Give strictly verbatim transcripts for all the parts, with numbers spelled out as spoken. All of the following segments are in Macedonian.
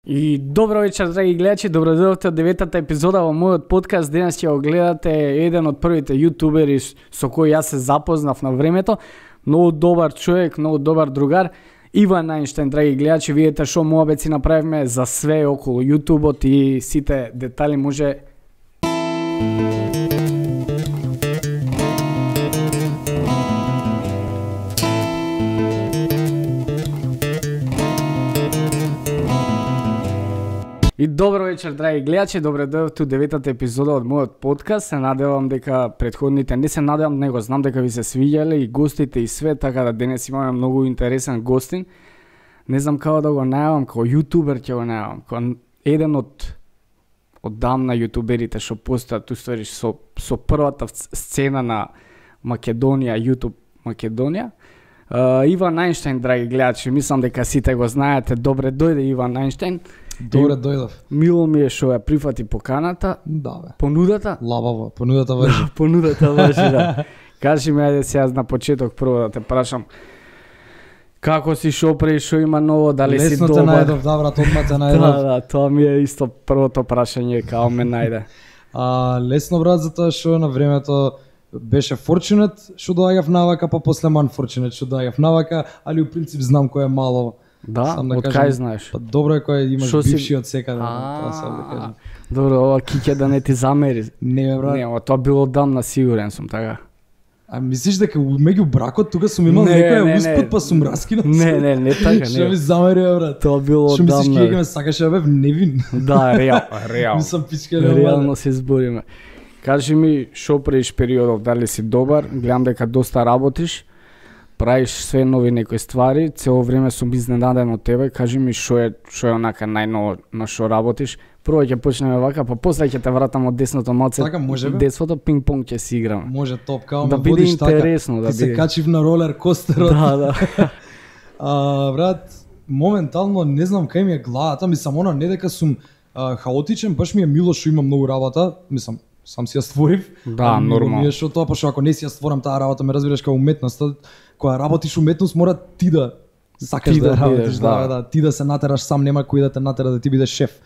И добро вечер, драги гледачи, добродојдовте од деветата епизода во мојот подкаст. Денес ќе го гледате еден од првите јутубери со кој јас се запознав на времето. Многу добар човек, многу добар другар. Иван Ајнштајн, драги гледачи, видите шо муабет направивме за све околу јутубот и сите детали може... И добро вечер, драги гледачи, добре дојдовте у деветата епизода од мојот подкаст. Се надевам дека претходните, не се надевам, него знам дека ви се свиѓале и гостите и све, така да денес имаме многу интересен гостин. Не знам како да го најавам, како јутубер ќе го најавам, како еден од од дамна јутуберите што постојат, уствари со со првата сцена на Македонија, YouTube Македонија. Uh, Иван Ајнштајн, драги гледачи, мислам дека сите го знаете. Добре дојде Иван Ајнштајн. Добре дојдов. Мило ми е што ја прифати поканата. Да, бе. Понудата? Лабаво, понудата важи. Понудата важи, да. Кажи ми, ајде сега на почеток прво да те прашам. Како си, шо пре, шо има ново, дали Лесно си добар? Лесно те најдов, да брат, одма те најдов. Да, да, тоа ми е исто првото прашање, као ме најде. А, лесно брат, затоа што на времето беше fortunate што доаѓав навака, па после unfortunate што доаѓав навака, али у принцип знам кој е мало. Да, сам да од кажам, кај знаеш? Па добро е кој имаш Шо си- бивши од секаде, тоа сам да кажам. Добро, ова киќе да не ти замери. Не бе брат. Не, ова тоа било дамна, сигурен сум, така. А мислиш дека меѓу бракот тука сум имал Не, не, некоја не. успот па сум раскинат? Не, не, не така, Што ми не. замери бе брат? Тоа било Што мислиш дамна. ќе ме сакаше да бев невин? Да, реал, реал. Мислам пичка не Реално се збориме. Кажи ми, шо преиш периодов, дали си добар? Гледам дека доста работиш, правиш све нови некои ствари, цело време сум изненаден од тебе. Кажи ми шо е, шо е онака најново на шо работиш. Прво ќе почнеме вака, па после ќе те вратам од десното малце. Така, може, бе? Десното пинг-понг ќе си играме. Може топ, као Да ме биде водиш така. интересно, да Ти се биде. качив на ролер костерот. Да, да. А, брат, моментално не знам кај ми е главата, мислам она не дека сум а, хаотичен, баш ми е мило што имам многу работа, мислам сам си ја створив. Да, а, мило нормално. Ми е што тоа, пошто ако не си ја створам таа работа, ме разбираш како уметноста, кога работиш уметност мора ти да сакаш Ти да, да ја работиш, бидеш, да, да. да, ти да се натераш сам, нема кој да те натера да ти бидеш шеф.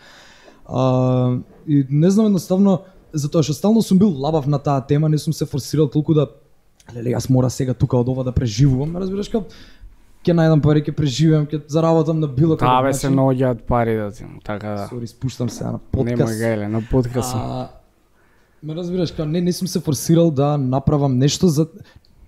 А, и не знам едноставно, затоа што стално сум бил лабав на таа тема, не сум се форсирал толку да леле, јас мора сега тука од ова да преживувам, разбираш како ќе најдам пари, ќе преживеам, ќе заработам на било Таа каков бе се наоѓаат пари да ти, така да. Сори, спуштам се на Нема подкаст. гајле, на подкаст сум. А, ме разбираш, како не, не сум се форсирал да направам нешто за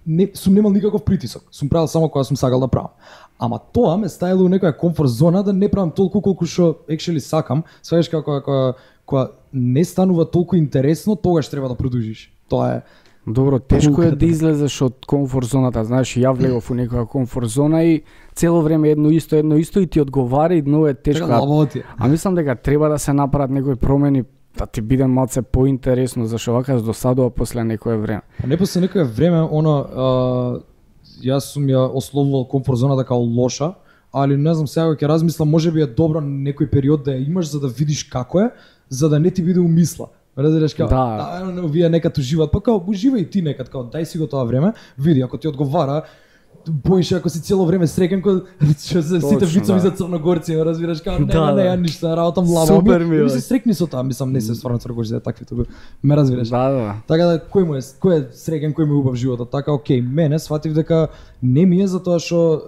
не сум немал никаков притисок. Сум правил само кога сум сакал да правам. Ама тоа ме ставило у некоја комфорт зона да не правам толку колку што actually сакам. Сваѓаш како кога кога не станува толку интересно, тогаш треба да продолжиш. Тоа е Добро, тешко е Пуката. да излезеш од комфорт зоната, знаеш, ја влегов у некоја комфорт зона и цело време едно исто, едно исто и ти одговара и многу е тешко. така лабаво ти е. А мислам дека треба да се направат некои промени да ти биде малце поинтересно, зашто вака досадува после некое време. А не после некое време, оно, а, јас сум ја ословувал комфорт зоната како лоша, али не знам, сега ќе размислам, може би е добро некој период да ја имаш за да видиш како е, за да не ти биде умисла. Разбираш како, Да. да, да вие некад уживаат, па како уживај ти некад, како дај си го тоа време, види ако ти одговара, боиш ако си цело време среќен кој што се сите Точно, вицови да. за црногорци, разбираш како не, Да, не, не, да. ја ништо, работам лаво. Супер ми, ми, ми бе. се срекни со тоа, мислам не се стварно црногорци, да такви тоа. Ме разбираш. Да, да. Така да кој му е кој е среќен, кој му е убав животот. Така окей, мене сватив дека не ми е затоа што е,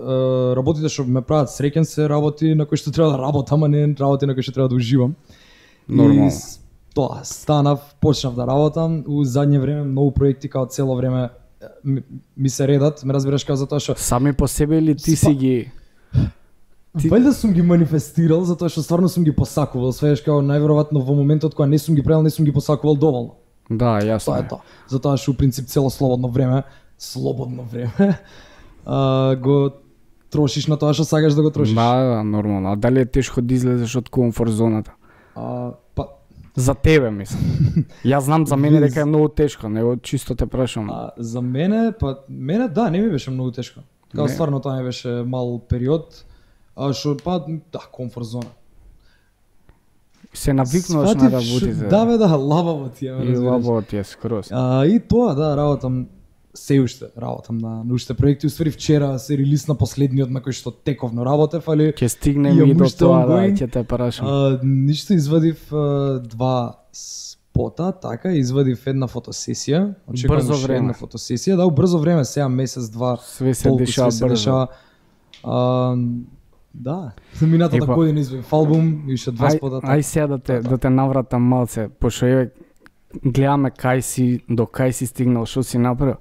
работите што ме прават среќен се работи на кои што треба да работам, а не работи на кои што треба да уживам. Нормално. И с- тоа станав, почнав да работам, у задње време многу проекти како цело време е, ми, ми се редат, ме разбираш како затоа што Сами по себе или ти си Спа- ги... Ти- Вајда сум ги манифестирал затоа што стварно сум ги посакувал, свееш како најверојатно во моментот кога не сум ги правил, не сум ги посакувал доволно. Да, јасно. Тоа е тоа. Затоа што у принцип цело слободно време, слободно време, а, го трошиш на тоа што сакаш да го трошиш. Да, да, нормално. А дали е тешко да излезеш од комфорт зоната? А, па, За тебе, мислам. Јас знам за мене дека е многу тешко, него чисто те прашам. а, за мене, па мене да, не ми беше многу тешко. Као Не. стварно тоа не беше мал период, а што па да, комфорт зона. Се навикнуваш на Сватив шо- работите. Да бе, да, лабаво ти е, ме И разбираш. лабо ти е скроз. А, и тоа, да, работам се уште работам на научните проекти. Уствари вчера се релисна последниот на кој што тековно работев, али ќе стигнем и до тоа, да, ќе те прашам. Ништо извадив а, два спота, така, извадив една фотосесија. Брзо време. Една фотосесија, да, брзо време, сега месец, два, све се дешава брзо. А, да, минатата година извадив албум, уште два спота. Ај сега да те, да те навратам малце, пошто еве гледаме кај си, до кај си стигнал, што си направил.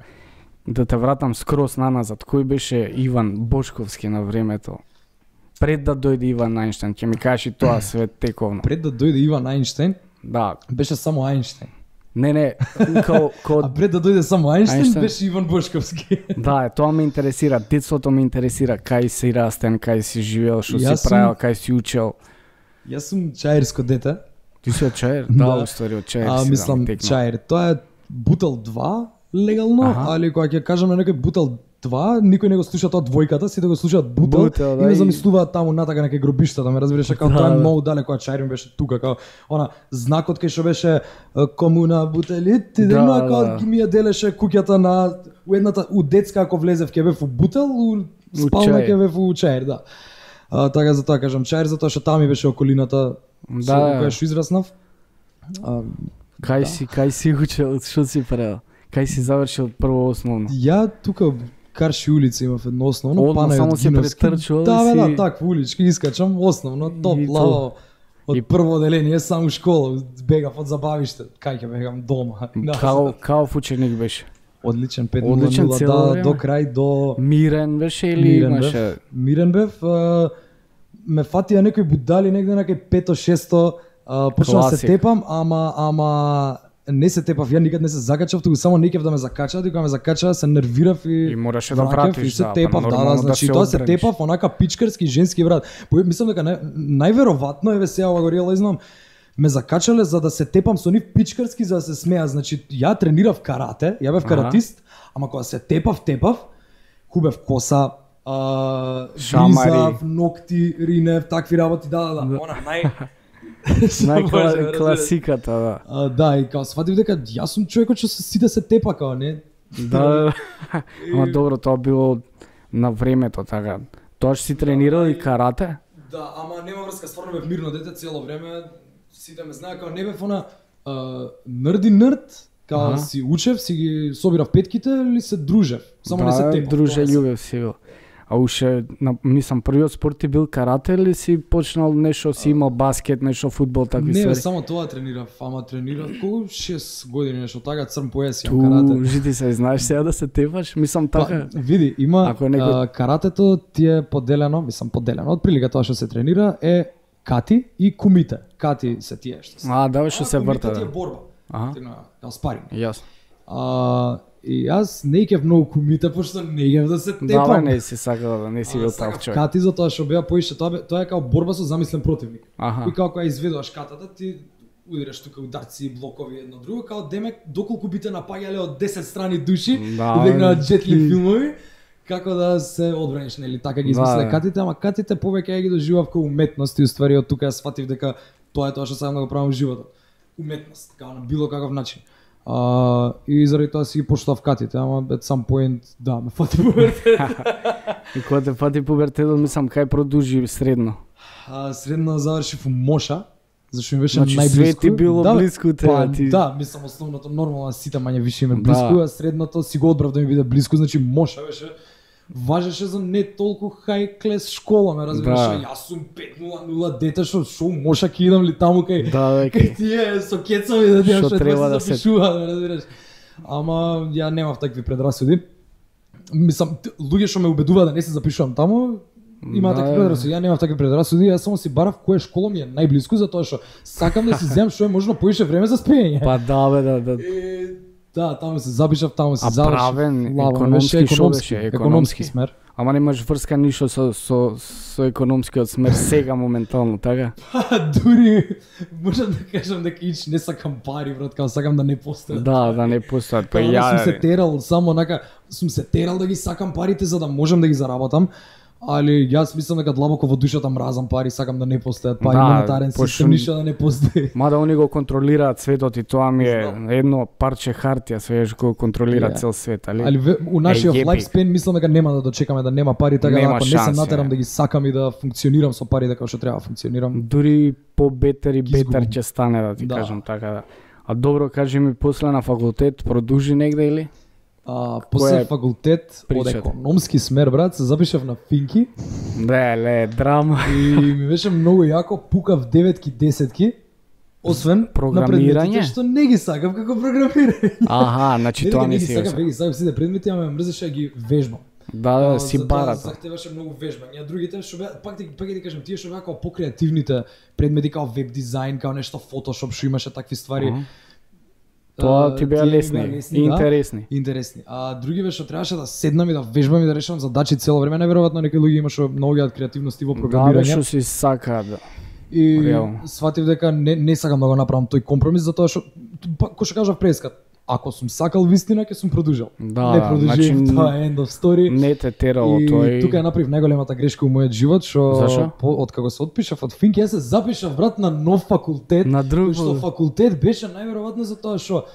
Да те вратам скроз наназад, кој беше Иван Бошковски на времето? Пред да дојде Иван Ајнштајн, ќе ми кажеш и тоа све тековно. Пред да дојде Иван Ајнштајн? Да. Беше само Ајнштајн. Не, не, као, као... А пред да дојде само Ајнштајн, Ајнштајн беше Иван Бошковски. Да, тоа ме интересира, детството ме интересира, кај си растен, кај си живеел, што си сум... правил, кај си учел. Јас сум чаирско дете. Ти си од Чаир? Да, уствари од Чаир. А, мислам, да, Чаир. Тоа е Бутел два, легално, ага. Али кога ќе кажам на некој Бутел два, никој не го слуша тоа двојката, сите го слушаат Бутел, Бутел да, и не замислуваат таму натака на некој гробишта, да ме разбираш, како да, тоа е многу далеко, а Чаир ми беше тука, како она знакот кај што беше комуна Бутелит, и да, да, кога да. Ми ја делеше куќата на у едната у детска ако влезев ќе бев у Бутел, у спална ќе бев у Чаир, да. А, така за тоа кажам Чаир, затоа што таму ми беше околината да. Со која што израснав. А, кај да. си, кај си учел, што си правил? Кај си завршил прво основно? Ја тука Карши улица имав едно основно, Одно, Панајот само се претрчувал да, си... Да, да, таква улички искачам, основно, топ, лаво. Од и... прво оделение, само школа, бегав од забавиште, кај ќе бегам дома. Као, као ученик беше? Одличен, пет нула нула, да, до крај, до... Мирен беше или Мирен имаше? Бев. Мирен бев, а, ме фатија некои будали негде на кај пето-шесто, почнав се тепам, ама, ама не се тепав, ја никад не се закачав, туку само некев да ме закачаат и кога ме закачаа се нервирав и и мораше да вратиш, и се тепав, да, да, да, значи да тоа се тепав онака пичкарски женски брат. Мислам дека нај, најверојатно еве сега ова го реализнам, ме закачале за да се тепам со нив пичкарски за да се смеа, значи ја тренирав карате, ја бев каратист, ама кога се тепав, тепав, хубев коса, а, гризав, ногти, ринев, такви работи, да, да, да, она нај најкласиката, да. А, да, и као сватив дека јас сум човекот што сите се тепа, као не. Да, ама добро, тоа било на времето, така. Тоа што си тренирал и карате? Да, ама нема врска, стварно бев мирно дете цело време. Сите ме знае, као не бев она нрди нрд, као ага. Си учев, си ги собирав петките или се дружев. Само да, не се тепав. Друже љубев си бил. А уше, мислам, првиот спорт ти бил карате или си почнал нешто, си имал баскет, нешто фудбал, такви ствари? Не, само тоа тренирав, ама тренирав колку шест години нешто, така црн појас имам карате. Ту, жити се, знаеш сега да се тепаш? Мислам така. Па, види, има некој... а, каратето ти е поделено, мислам поделено, од прилика тоа што се тренира е кати и кумите. Кати се тие што се. А, да, што се врта. Кумите ти е борба. Ага. Као спаринг. Јасно. А, и јас не икев многу кумите, пошто не икев да се тепам. Да, не си сакал да не си бил таков човек. Кати затоа што беа поише, тоа, тоа е као борба со замислен противник. Аха. И као кога изведуваш катата, ти удираш тука ударци и блокови едно друго, као демек доколку бите напаѓале од десет страни души, да, и дека джетли филмови, како да се одбраниш, нели, така ги измисле да, катите, ама катите повеќе ја ги доживав како уметност и уствари од тука ја сфатив дека тоа е тоа што сакам да го правам во животот. Уметност, као на било каков начин. Uh, и заради тоа си ги поштав катите, ама at some point, да, ме фати пубертет. И кога те фати пубертетот, мислам, кај продужи средно? Uh, средно завршив у Моша, зашто ми беше значи, најблиску. Значи све ти било да, блиску тебе, па, ти... Да, мислам, основното, нормално, сите мање више име блиску, да. А средното си го одбрав да ми биде блиску, значи Моша беше... Важеше за не толку хай клес школа, ме разбираш, да. Јас сум пет нула нула дете, шо, шо Моша ки идам ли таму кај, да, кај тие со кецови да тие што треба да се запишува, ме разбираш. Ама ја немав такви предрасуди. Мислам, луѓе што ме убедува да не се запишувам таму, имаат да, такви предрасуди, ја немав такви предрасуди, јас само си барав која школа ми е најблиску, затоа што сакам да си земам што е можно поише време за спиење. Па да, бе, да, да. И... Да, таму се запишав, таму се завршив. А правен, економски, шо беше? Економски смер. Ама немаш врска ништо со, со, со економскиот смер сега моментално, така? Па, дури, можам да кажам дека ич не сакам пари, брат, као сакам да не постојат. Да, да не постојат, па ја... ја... Сум се терал, само онака, сум се терал да ги сакам парите за да можам да ги заработам. Али јас мислам дека длабоко во душата мразам пари, сакам да не постојат пари, Да, монетарен пошто- систем, ништо да не постои. Мада они го контролираат светот и тоа ми е Знам. едно парче хартија, свеж го контролира Ја. цел свет, али? Али ве- у нашиот епик. lifespan мислам дека нема да дочекаме да нема пари, така да Нема ако не шанси, се натерам е. да ги сакам и да функционирам со пари дека што треба да функционирам. Дури по-бетер и Ги бетер изгубам. ќе стане, да ти Да. кажам така да. А добро, кажи ми, после на факултет продужи негде или? А, после е факултет од причата? економски смер, брат, се запишав на Финки Не, ле, драма. и ми беше многу јако, пукав деветки, десетки, освен на Програмирање? предметите што не ги сакав како програмирање. Аха, значи Не, тоа дека не не ги си сакав, го. не ги сакав сите предмети, ама ме мрзеше да ги вежбам. Да, да, А, си затоа барата. Захтеваше многу вежбање, а другите што беа, пак ти пак ќе ти кажам, тие што беа како покреативните предмети, као веб дизајн, као нешто Photoshop што имаше такви ствари. Аха. Тоа а, ти беа тие ми лесни, да. интересни. Интересни. А другиве што требаше да седнам и да вежбам и да решавам задачи цело време, неверојатно некои луѓе имаше многу од креативности во Да, бе, програмирање. што си сакаат. Да. И реално. сватив дека не, не сакам да го направам тој компромис, затоа што, па, кој што кажав прескат, ако сум сакал вистина, ќе сум продужил. Да, не продужив, значи, тоа е end of story. Не те терало И тој. тука ја направив најголемата грешка у мојот живот, што Зашо? по, од како се отпишав од Финки, јас се запишав брат на нов факултет, На друг што факултет. факултет беше најверојатно за тоа што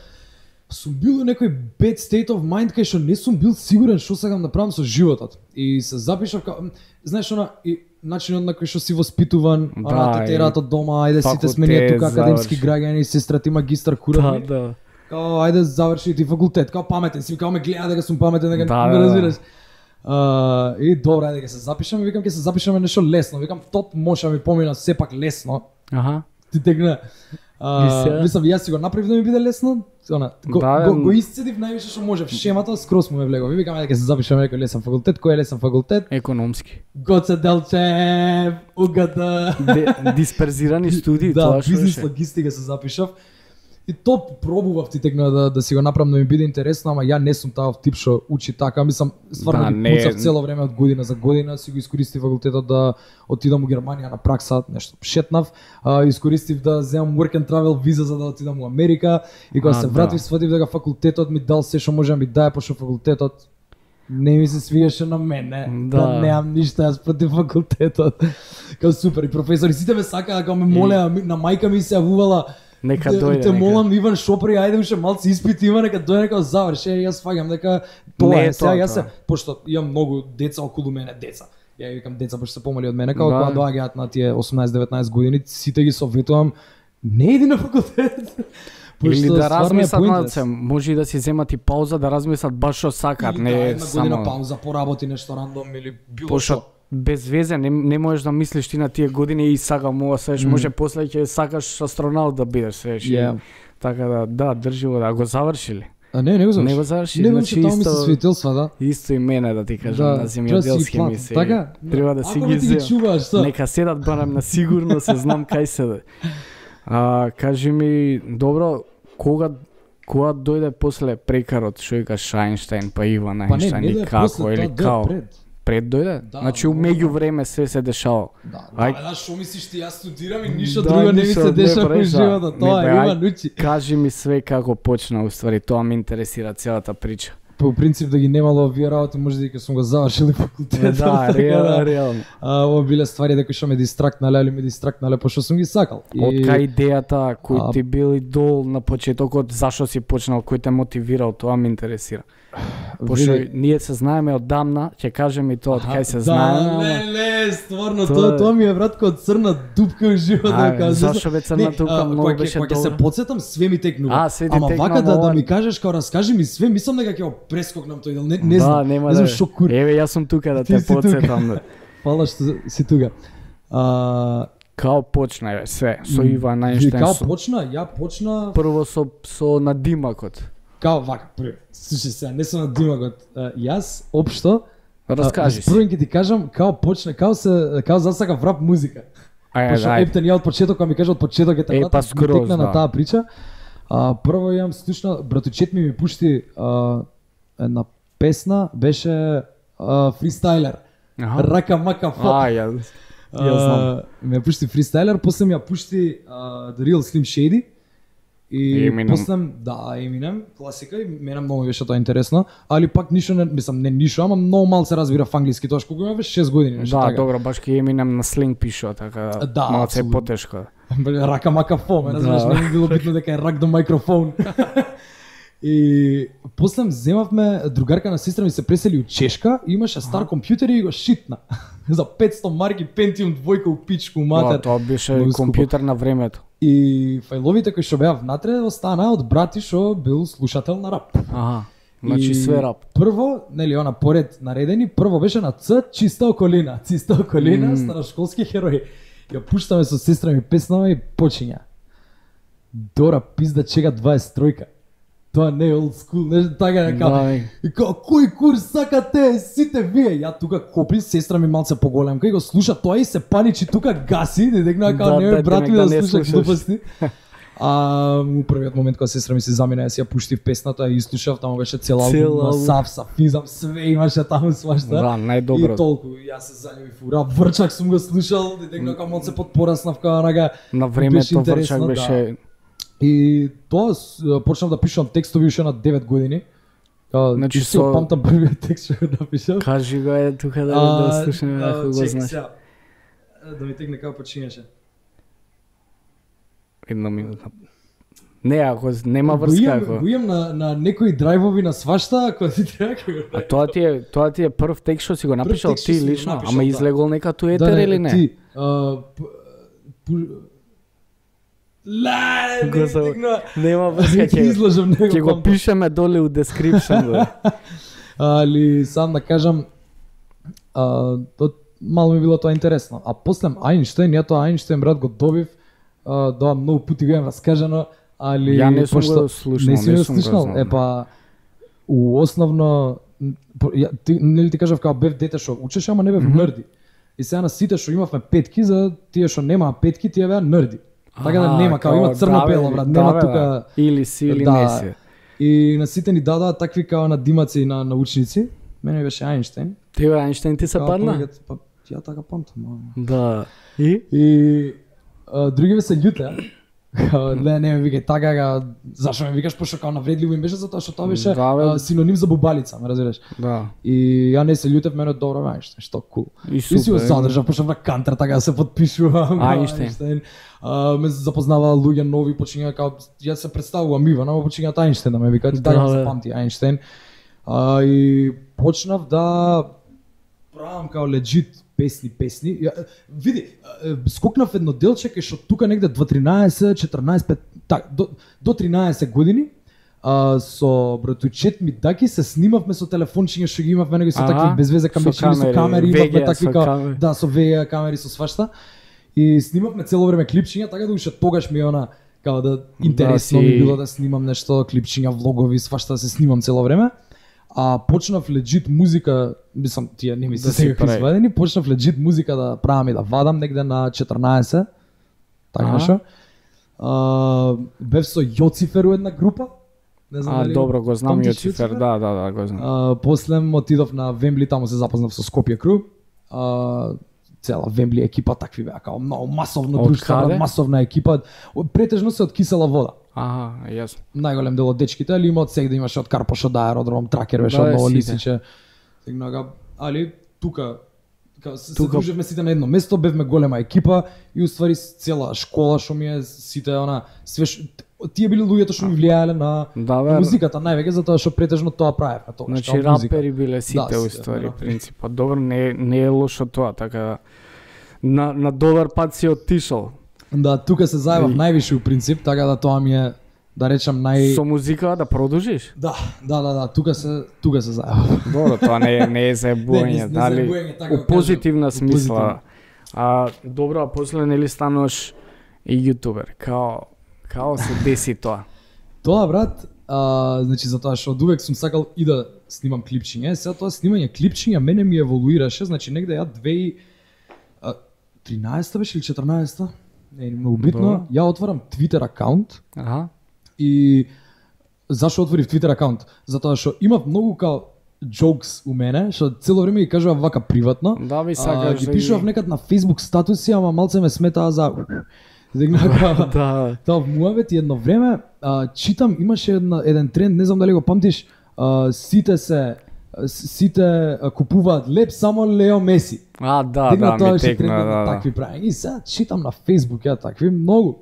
сум бил у некој bad state of mind кај што не сум бил сигурен што сакам да правам со животот. И се запишав као, знаеш она и начинот на кој што си воспитуван, Да, она те терат од дома, ајде сите сме ние факултет, тука академски заврши. граѓани, сестра ти магистар Да, курав. да. Као ајде заврши ти факултет, као паметен си, као ме гледа дека сум паметен, дека Да, не да, да. разбираш. А, и добро, ајде дека се запишам, викам ќе се запишаме нешто лесно, викам топ може да ми помина сепак лесно. Аха. Ти тегна. А, И сега? мислам, јас си го направив да ми биде лесно, она, го, Да, го, м. го исцедив највише што можев, шемата скрос му ме влегов. И викам ајде дека се запишаме некој лесен факултет, кој е лесен факултет? Економски. Гоце Делчев, УГД. Де, дисперзирани студии, Да, тоа што бизнес беше. логистика се запишав. И то пробував ти текна да, да си го направам да ми биде интересно, ама ја не сум таав тип што учи така. Мислам, стварно Да, ги не- пуцав цело време од година за година, си го искористив факултетот да отидам у Германија на пракса, нешто шетнав, а, искористив да земам work and travel виза за да отидам у Америка и кога А, се да. вратив сватив дека факултетот ми дал се што може да ми дае, пошто факултетот не ми се свиеше на мене, да, Да. да немам ништо јас против факултетот. Као супер, и професори сите ме сакаа, као ме молеа, ми- на мајка ми се јавувала, Нека Те- дојде, Те нека. молам Иван Шопри, ајде уште малци испити има, нека дојде нека заврши. Е, јас фаќам дека тоа Не е е. Сега тоа, јас се, тоа. пошто имам многу деца околу мене, деца. Ја ја викам деца пошто се помали од мене, као Да. кога доаѓаат на тие осумнаесет-деветнаесет години, сите ги советувам не иди на факултет. Или Пошто да стварно е размислат на pointless. се, може и да си земат и пауза да размислат баш што сакаат, Или не да, е една година само пауза, поработи нешто рандом или било пошто што. без везе не, не можеш да мислиш ти на тие години и сакам ова, свеш, може после ќе сакаш астронаут да бидеш, свеш. и Ја. Така да, да, држи го да го завршили. А не, не го заврши. Не го заврши, Не го значи че таму ми се исто- светилства, да. Исто и мене да ти кажам, Да, на треба да си ги земјоделски платам, мисии. така? Треба да си Ако ги не ти ги земам. чуваш, што? Нека седат барам на сигурно, се знам кај се. А, кажи ми, добро, кога кога дојде после прекарот, што викаш Ајнштајн, па Иван Па не, Ајнштајн не и да е како после, или тоа да е као? пред. Пред дојде? Да, значи много, меѓу да. време се се дешава. Да, Ај- да, да, што мислиш ти, јас студирам и ништо Да, друго не ми ништо се не дешава во правиш, да. животот, тоа Не, е бе, има ај- нучи. Кажи ми све како почна, уствари, тоа ме интересира целата прича. По принцип да ги немало овие работи, може дека сум го завршил факултетот. Да, така реално, реално. А, ова биле ствари дека што ме дистрактнале, али ме дистрактнале пошто сум ги сакал. Од кај идејата кој А- ти бил идол на почетокот, зашо си почнал, кој те мотивирал, тоа ме интересира. Пошто Види- ние се знаеме одамна, ќе кажем и тоа од кај се да, знаеме. ама- не, не, стварно, Тоа тоа, е- тоа ми е брат кога црна дупка во животот. А, као, зашо бе црна Не, дупка, а, многу кога ќе- беше Кога ќе се добро. подсетам, све ми текнува. А, све ти Ама текна, вака да, ама да ова- ми кажеш, као раскажи ми све, мислам дека ќе го прескокнам тој дел. Не, не да, знам, нема не знам да. што кур. Еве, јас сум тука да Ти те си тука. подсетам. Да. Фала што си тука. А, Као почна бе, све, со м, Иван ви, Ајнштајн. Као со- почна, ја почна Прво со со надимакот. као вака, први. Слушај сега, не сум на димагот. А, Јас општо Раскажи Прво си. ќе ти кажам као почна, као се као засакав рап музика. Ајде, Пошто ајде. ептен ја од почеток, кога ми кажа од почеток е Е, темата, па ми скроз, текна да. на таа прича. А, прво јам слушна, братучет ми ми пушти а, една песна, беше а, фристайлер. Аха. Рака мака фоп. А, ја, ја знам. А, ме пушти фристайлер, после ми ја пушти а, The Real Slim Shady И Eminem. после, да, Eminem, класика, и мене многу беше тоа интересно, али пак ништо не, мислам, не ништо, ама многу мал се разбира в англиски, тоа што го имаш шест години, нешто Да, така. добро, баш ке Eminem на сленг пишува, така Да, малце е апсолутно. потешко. Рака мака фо, ме разбираш, Да. не ми било битно дека е рак до микрофон. И после земавме, другарка на сестра ми се пресели у Чешка и имаше стар компјутер и го шитна. За петсто марки Pentium двојка у пичку Да, матер. тоа беше Многу скупо. компјутер на времето. И фајловите кои што беа внатре останаа од брати што бил слушател на рап. Аха. Значи И све рап. Прво, нели она поред наредени, прво беше на Ц, чиста околина, чиста околина, Мм. старошколски херои. Ја пуштаме со сестра ми песнава и почиња. Дора пизда чека дваесет тројка. Тоа не е old school, нешто така нека. Да, И као, кој курс сакате, сите вие? Ја тука копли, сестра ми малце поголемка и го слуша тоа и се паничи тука гаси, да декна као Да, не да, бе, брат ми да да не слуша слушаш. глупости. А у првиот момент кога сестра ми се замина, јас ја пуштив песната и слушав, таму беше цел Цел албум, на албум. Сав, Сафизам, све имаше таму свашта. Да, најдобро. И толку, јас се заљубив у рап, Врчак сум го слушал, декна као малце подпораснав као нага. На Беше времето интересно, Врчак беше И тоа с- почнав да пишувам текстови уште на девет години. Као, Значи и си со- памтам првиот текст што го напишав. кажи го е тука да А, да слушаме а, ако го чекай знаеш. сега. Да ми текне како почињаше. Една минута. Не, ако нема Го врска, имам, ако. го имам на, на некои драйвови на свашта, ако ти треба ќе го А тоа ти е тоа ти е прв текст што си го напишал текст што ти си го лично, напишал, ама да. излегол нека ту етер или не? Ти, а, п- пу- Ла, не Го ми за- текна. Нема врска, Ќе ќе изложам него. ќе го памтам. пишеме доле у description го. Али сам да кажам, а, то мало ми било тоа интересно. А после Ајнштајн, ја тоа Ајнштајн брат го добив, а, да многу пати го имам раскажано, али Ја не сум пошто- го слушнал, не си не го сум го слушнал. знал, Е па у основно м, по- ја, ти, нели ти кажав као бев дете што учеше, ама не бев нерди. И сега на сите што имавме петки, за тие што немаа петки, тие беа нерди. Така да Аха, нема, као има да, црно-бело, бе, брат, да, нема бе, тука... да. Или си или Да. не си. И на сите ни дадаа такви као на димаци и на научници. Мене беше Ајнштајн. Тебе Ајнштајн ти се Као падна? повеќе- Па, ја така памтам. ама. Да. И? И а, другиве се љуте. Као, не, не ме викај така, као, зашо ме викаш, пошто као навредливо им беше, затоа што тоа беше Да, бе. а, синоним за бубалица, ме разбираш. Да. И ја не се љутев, мене добро Ајнштајн, што кул. И И си го супер. задржав, почнав на кантар, така да се подпишувам. као Ајнштајн. А, ме запознаваа луѓе нови, почиња као, ја се представувам Иван, ама почињаат Ајнштајн да ме викаат, и така Да, да, се бе. памти Ајнштајн. А, и почнав да правам као легит песни, песни. Ја, види, е, скокнав едно делче кај што тука негде до тринаесет, четрнаесет, пет, так, до, до тринаесет години, а, со братучет ми Даки се снимавме со телефончиња што ги имавме, него со Аха, такви безвезе камерички, со камери, камери, ве ге имавме ес такви со као, камери. да, со ве ге камери, со свашта. И снимавме цело време клипчиња, така да уште тогаш ми е она као да интересно си- ми било да снимам нешто, клипчиња, влогови, свашта да се снимам цело време. А почнав легит музика, мислам тие не ми се Да си секако прави. извадени, почнав легит музика да правам и да вадам негде на четрнаесет. Така Аха. нешто. А, бев со Јоцифер у една група. Не знам А, дали добро, го знам памтиш Јоцифер, да, да, да, го знам. А, после отидов на Вембли, таму се запознав со Скопје Кру. А, цела Вембли екипа такви беа, као многу масовно Од друштво, каде? брат, масовна екипа. Претежно се од кисела вода. Аха, јасно. Најголем дел од дечките, али има од сегде имаше од Карпош, од аеродром, Тракер беше Да, од е, Ново сите. Лисиче. Тегнага, али тука као, се, Тука- се дружевме сите на едно место, бевме голема екипа и уствари цела школа што ми е сите она све ш... тие били луѓето што ми влијаеле на Да, бе. на музиката највеќе затоа што претежно тоа правевме тоа. Значи што музика. рапери биле сите Да, у сите, ствари рапери. принципот. Добро, не не е лошо тоа, така на на добар пат си оттишол. Да, тука се зајавав И- највише у принцип, така да тоа ми е да речам нај Со музика да продолжиш? Да, да, да, да, тука се тука се зајавав. Добро, тоа не е не е Не, не- заебување, не дали заебување, така го у позитивна кажам, у позитивна. смисла. А добро, а после нели стануваш и јутубер. Као као се деси тоа? Тоа брат, а, значи затоа што одувек сум сакал и да снимам клипчиња. Сега тоа снимање клипчиња мене ми еволуираше, значи негде ја две тисачи и тринаесета беше или четрнаесета, не е многу битно. Добро. Ја отварам Twitter акаунт Аха. и зашо отворив Twitter акаунт? Затоа што имав многу као jokes у мене, што цело време ги кажував вака приватно. Да, ви А, сакаш ги да пишував некад на Facebook статуси, ама малце ме сметаа за Да. Тоа муавет едно време а, читам, имаше една, еден тренд, не знам дали го памтиш, а, сите се сите а, купуваат леп само Лео Меси. А, да, Дигна, да, тоа ми беше текна, трендот да, на да. такви прави. И сега читам на Facebook ја такви многу.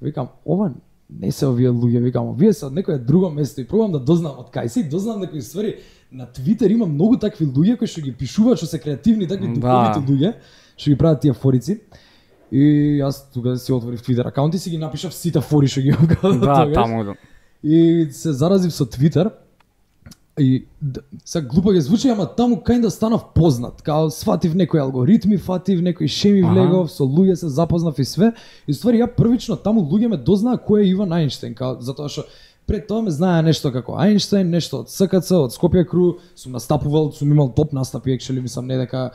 Викам, ова не се овие луѓе, викам, овие се од некое друго место и пробам да дознам од кај се и дознам некои ствари. На Твитер има многу такви луѓе кои што ги пишуваат, што се креативни, такви Да. духовити луѓе, што ги прават тие форици. И јас тука си отворив Твитер акаунт и си ги напишав сите фори што ги имам. Да, таму. И се заразив со Твитер. И д- сега глупо ги звучи, ама таму кај да станав познат. Као сватив некои алгоритми, фатив некои шеми Аха. влегов, со луѓе се запознав и све. И ствари ја првично таму луѓе ме дознаа кој е Иван Ајнштеин, као затоа што пред тоа ме знае нешто како Ајнштеин, нешто од СКЦ, од Скопје Кру, сум настапувал, сум имал топ настапи, екшели мислам не дека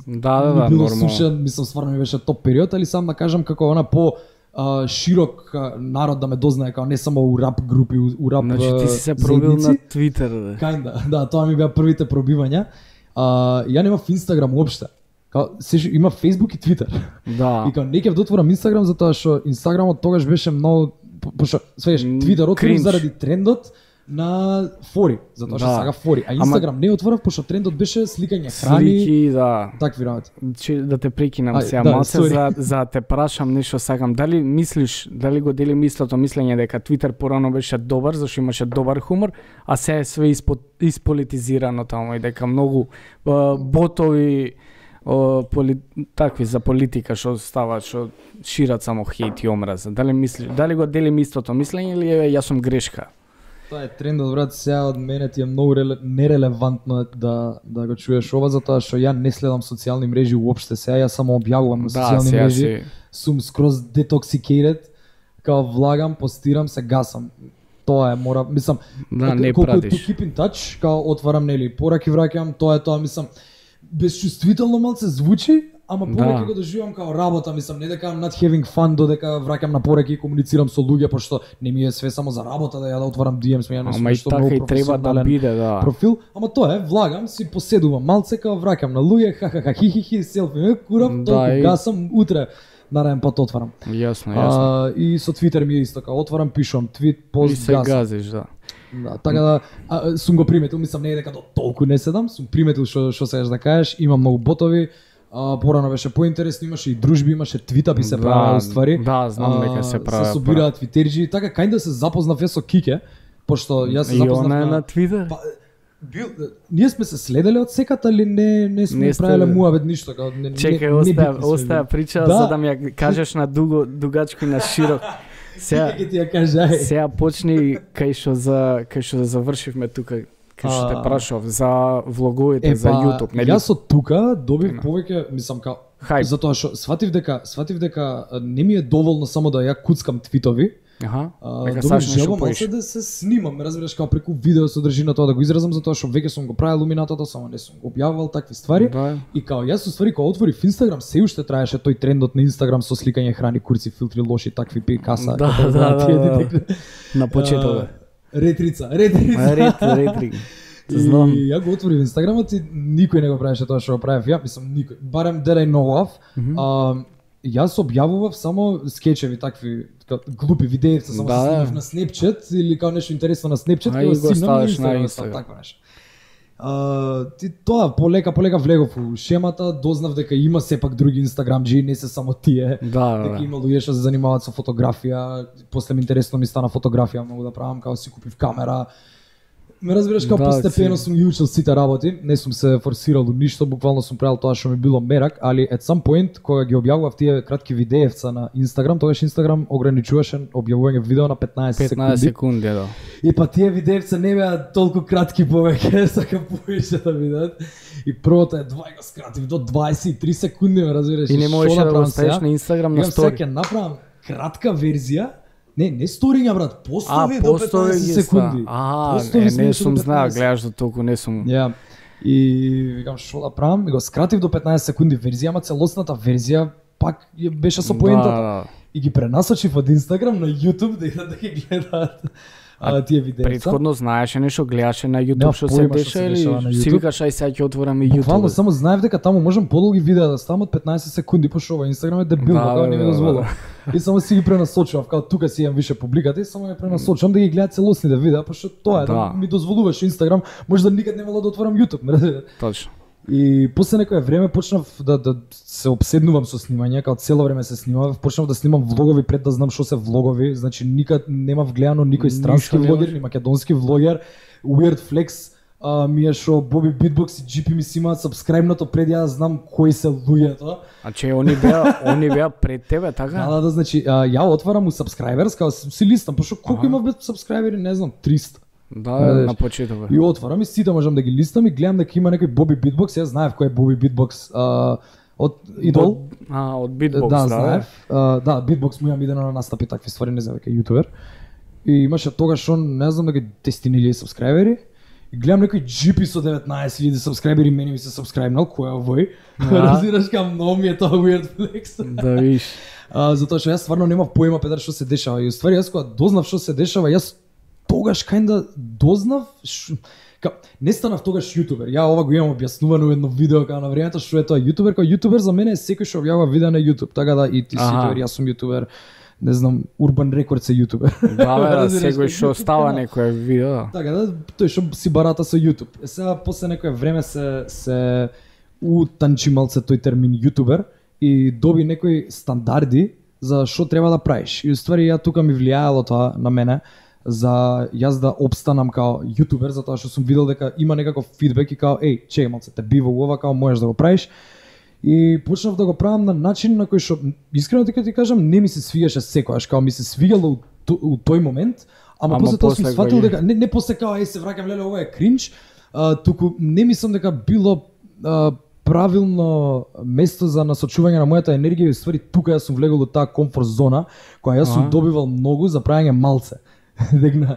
Да, да, ми да, било нормално. сушен, мислам стварно ми беше топ период, али сам да кажам како она по а, широк а, народ да ме дознае, као не само у рап групи, у, у рап Значи ти си се а, пробил заедници. на Твитер, да. Кајнда, да, тоа ми беа првите пробивања. А, ја немав Инстаграм уопште. Као, сеш, има Фейсбук и Твитер. Да. И као не ќе дотворам Инстаграм затоа што Инстаграмот тогаш беше многу по- пошто свеш М, Твитер отворив кринж. заради трендот на фори, затоа што Да. сага фори, а Ама- Инстаграм не отворав пошто трендот беше сликање храни, Слики, да. такви работи. Че, да те прекинам Ај, сега да, малце sorry. за за да те прашам нешто сакам. Дали мислиш, дали го дели мислото мислење дека Твитер порано беше добар зашто имаше добар хумор, а се е све испо, исполитизирано таму и дека многу е, ботови е, поли, такви за политика што ставаат, што шират само хејт и омраза. Дали мислиш, дали го дели истото мислење или е, јас сум грешка? Тоа е трендот, брат, сега од мене ти е многу реле, нерелевантно да да го чуеш ова затоа што ја не следам социјални мрежи уопште, сега ја само објавувам на Да, социјални сега мрежи. си Сум скроз detoxicated, као влагам, постирам, се гасам. Тоа е, мора, мислам, да не колку е to пратиш. keep in touch, као отварам нели пораки враќам, тоа е тоа, мислам, безчувствително малце звучи, ама повеќе Да. го доживам као работа, мислам, не дека I'm not having fun, додека враќам на пораки и комуницирам со луѓе, пошто не ми е све само за работа да ја да отварам ди ем, ја не сум Ама и нешто така многу и треба да професионален биде, да. профил, ама тоа е, влагам, си поседувам малце, као враќам на луѓе, ха-ха-ха, хи-хи-хи, селфи, е, курав, Да, толку и- гасам, утре нареден пат отварам. Јасно, јасно. А, и со Твитер ми е исто, као отварам, пишувам, твит, И пост, се гасам. газиш, да. Да, така да, а, сум го приметил, мислам не е дека до толку не седам, сум приметил што што сакаш да кажеш, има многу ботови. А, порано беше поинтересно, имаше и дружби, имаше твитапи се Да, правеа ствари. да, знам А, дека се правеа, Се собираат твитерџи, така кај да се запознав ја со Кике, пошто јас се И запознав она е на, на Твитер? Па, бил, ние сме се следеле од секата, али не не сме Не сте- правеле муабет ништо, као не Чекај, не, остава, небитни сме остава били. прича Да. за да ми ја кажеш на дуго, дугачко и на широк. Сега, Кике ќе ти ја каже, ај. сега почни кај што за кај што завршивме тука, кај што те А. прашав за влоговите, Е, за па, YouTube, нели? Јас од тука добив Ема. повеќе, мислам, као Хајп. затоа што сватив дека сватив дека а, не ми е доволно само да ја куцкам твитови. Аха. А, Дека добив сакаш нешто желба малце поише. да се снимам, разбираш, као преку видео содржина тоа да го изразам затоа што веќе сум го правил уминатото, само не сум го објавувал такви ствари. Да. И као јас уствари кога отворив Инстаграм, се уште траеше тој трендот на Инстаграм со сликање храни, курци, филтри, лоши, такви пи каса. Да, како да, знаат да, тие да. детектори. На почеток. А, Ретрица, ретрица. Рет, ретри. И Знам. ја го отворив Инстаграмот и никој не го правеше тоа што го правев ја, мислам никој. Барем that I know of. Мгм. А, јас објавував само скечеви такви така, глупи видеи, само Да, се да. снимав на Snapchat или као нешто интересно на Snapchat, А, и и го го снимам на ставаш на Instagram, Instagram. така нешто. А, ти тоа полека полека влегов у шемата, дознав дека има сепак други инстаграмџи, не се само тие. Да, да, Дека да. има луѓе што се занимаваат со фотографија, после ми интересно ми стана фотографија, многу да правам, као си купив камера. Ме разбираш, као Да, постепено си- сум ги учил сите работи, не сум се форсирал до ништо, буквално сум правил тоа што ми било мерак, али at some point кога ги објавував тие кратки видеевца на Инстаграм, тогаш Инстаграм ограничуваше објавување видео на петнаесет петнаесет секунди. секунди, да. И па тие видеевца не беа толку кратки повеќе, сакам повеќе да видат. И првото е два и го скратив до дваесет и три секунди, ме разбираш. И не што можеш да го правам ставиш сега? на Инстаграм на Викам, сега стори. ќе направам кратка верзија. Не, не сториња, брат, А, постови до постови ги петнаесет ста. секунди. А, Постови е, сме не уште сум до знаел, петнаесет. гледаш до толку, не сум. Ја. И викам што да правам, и го скратив до петнаесет секунди верзија, ама целосната верзија пак ја беше со поентата. Да, да. И ги пренасочив од Инстаграм на YouTube да идат да ги гледаат а, тие видеа. Предходно знаеше нешто, гледаше на YouTube Нема што се појма што деша се или дешава на си YouTube. викаш ај сега ќе отворам и YouTube. Буквално само знаев дека таму можам подолги видеа да ставам од петнаесет секунди, пошто ова Инстаграм е дебилно, Да, како не ми да, да, дозволува. И само си ги пренасочував, како тука си имам више публиката и само ја пренасочувам да ги гледам целосните видеа, пошто тоа е да, Да. ми дозволуваше Инстаграм, може да никад немало да отворам YouTube, ме разбирате? Точно. И после некое време почнав да, да се обседнувам со снимање, како цело време се снимав, почнав да снимам влогови пред да знам што се влогови, значи никад немав гледано никој странски Ништо влогер, немаш. ни македонски влогер, Weird Flex, а, ми е шо Боби Битбокс и Джи Пи ми си имаат сабскрајбнато пред ја да знам кои се луѓето. А че они беа, они беа пред тебе, така? Да, да, да, значи а, ја отварам у subscribers, као си си листам, пошто колку Аха. имав бе subscribери, не знам, триста. Да, Да, на почеток. И отварам и сите можам да ги листам и гледам дека има некој Боби Битбокс, ја знаев кој е Боби Битбокс, а, од Идол. А, од Beatbox, да, да. знаев. А, да, Beatbox му имам идено на настапи такви ствари, не знам дека е јутубер. И имаше тогаш он, не знам дека десет илјади сабскрајбери. И гледам некој Джи Пи со деветнаесет илјади сабскрајбери, мене ми се сабскрајбнал, кој е овој? Да. Разбираш као многу ми е тоа Weird Flex. Да видиш. А, затоа што јас стварно немав појма педар што се дешава. И уствари јас кога дознав што се дешава, јас тогаш кајнда дознав ш... Ка, не станав тогаш јутубер. Ја ова го имам објаснувано во едно видео као на времето што е тоа јутубер. Као јутубер за мене е секој што објавува видеа на YouTube. Така да и ти си Аха. јутубер, јас сум јутубер. Не знам, Urban Records е јутубер. Да, бе, да, Разбираш, секој како што YouTube става канал. некој видео. да. Така да, тој што си барата со YouTube. Е сега после некое време се се утанчи малце тој термин јутубер и доби некои стандарди за што треба да правиш. И уствари ја тука ми влијаело тоа на мене за јас да опстанам као јутубер, затоа што сум видел дека има некаков фидбек и као еј, чеј малце, те бива ова, као можеш да го правиш. И почнав да го правам на начин на кој што искрено ти ти кажам не ми се свигаше секогаш, као ми се свигало у, то- у тој момент, ама, Ама после тоа сум после сфатил кога ги- дека не не после као еј се враќам леле ова е кринч, а, туку не мислам дека било а, правилно место за насочување на мојата енергија и ствари тука јас сум влегол у таа комфорт зона која јас сум Аха. добивал многу за правење малце. Дегна.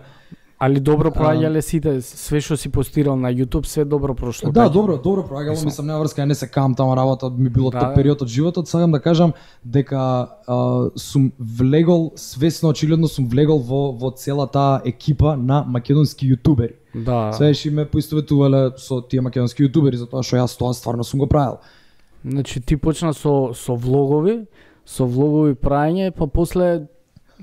Али добро проаѓале сите, све што си постирал на YouTube, све добро прошло. Да, така? добро, добро проаѓало, мислам нема врска, не се кам тама работа, ми било Да. тој период од животот, сакам да кажам дека а, сум влегол свесно, очигледно сум влегол во во целата екипа на македонски јутубери. Да. Свејаш и ме поистоветувале со тие македонски јутубери затоа што јас тоа стварно сум го правил. Значи ти почна со со влогови, со влогови праење, па после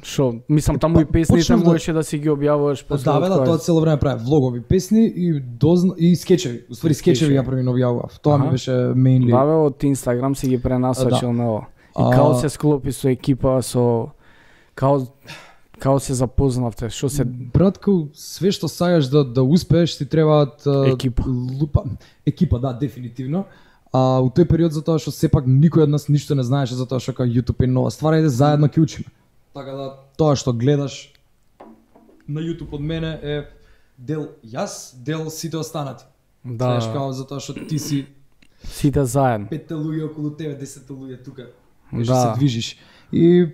што, мислам таму па, и песните почнав да- можеше да си ги објавуваш после. Да, бе, да, од тоа која- цело време правев влогови, песни и дозна и скечеви. Уствари И скечеви. скечеви ја премино објавував. Тоа ми Аха. беше mainly. Да, бе, од Инстаграм си ги пренасочил Да. на ова. И А- као се склопи со екипа, со као као се запознавте, што се Братко, све што сакаш да да успееш ти требаат а, Екипа. Лупа, екипа, да, дефинитивно. А у тој период затоа што сепак никој од нас ништо не знаеше затоа што као YouTube е нова ствар, ајде заедно ќе учиме. Така да тоа што гледаш на YouTube од мене е дел јас, дел сите останати. да, Знаеш као затоа што ти си сите заедно. петте луѓе околу тебе, десетте луѓе тука. Да. Што се движиш. И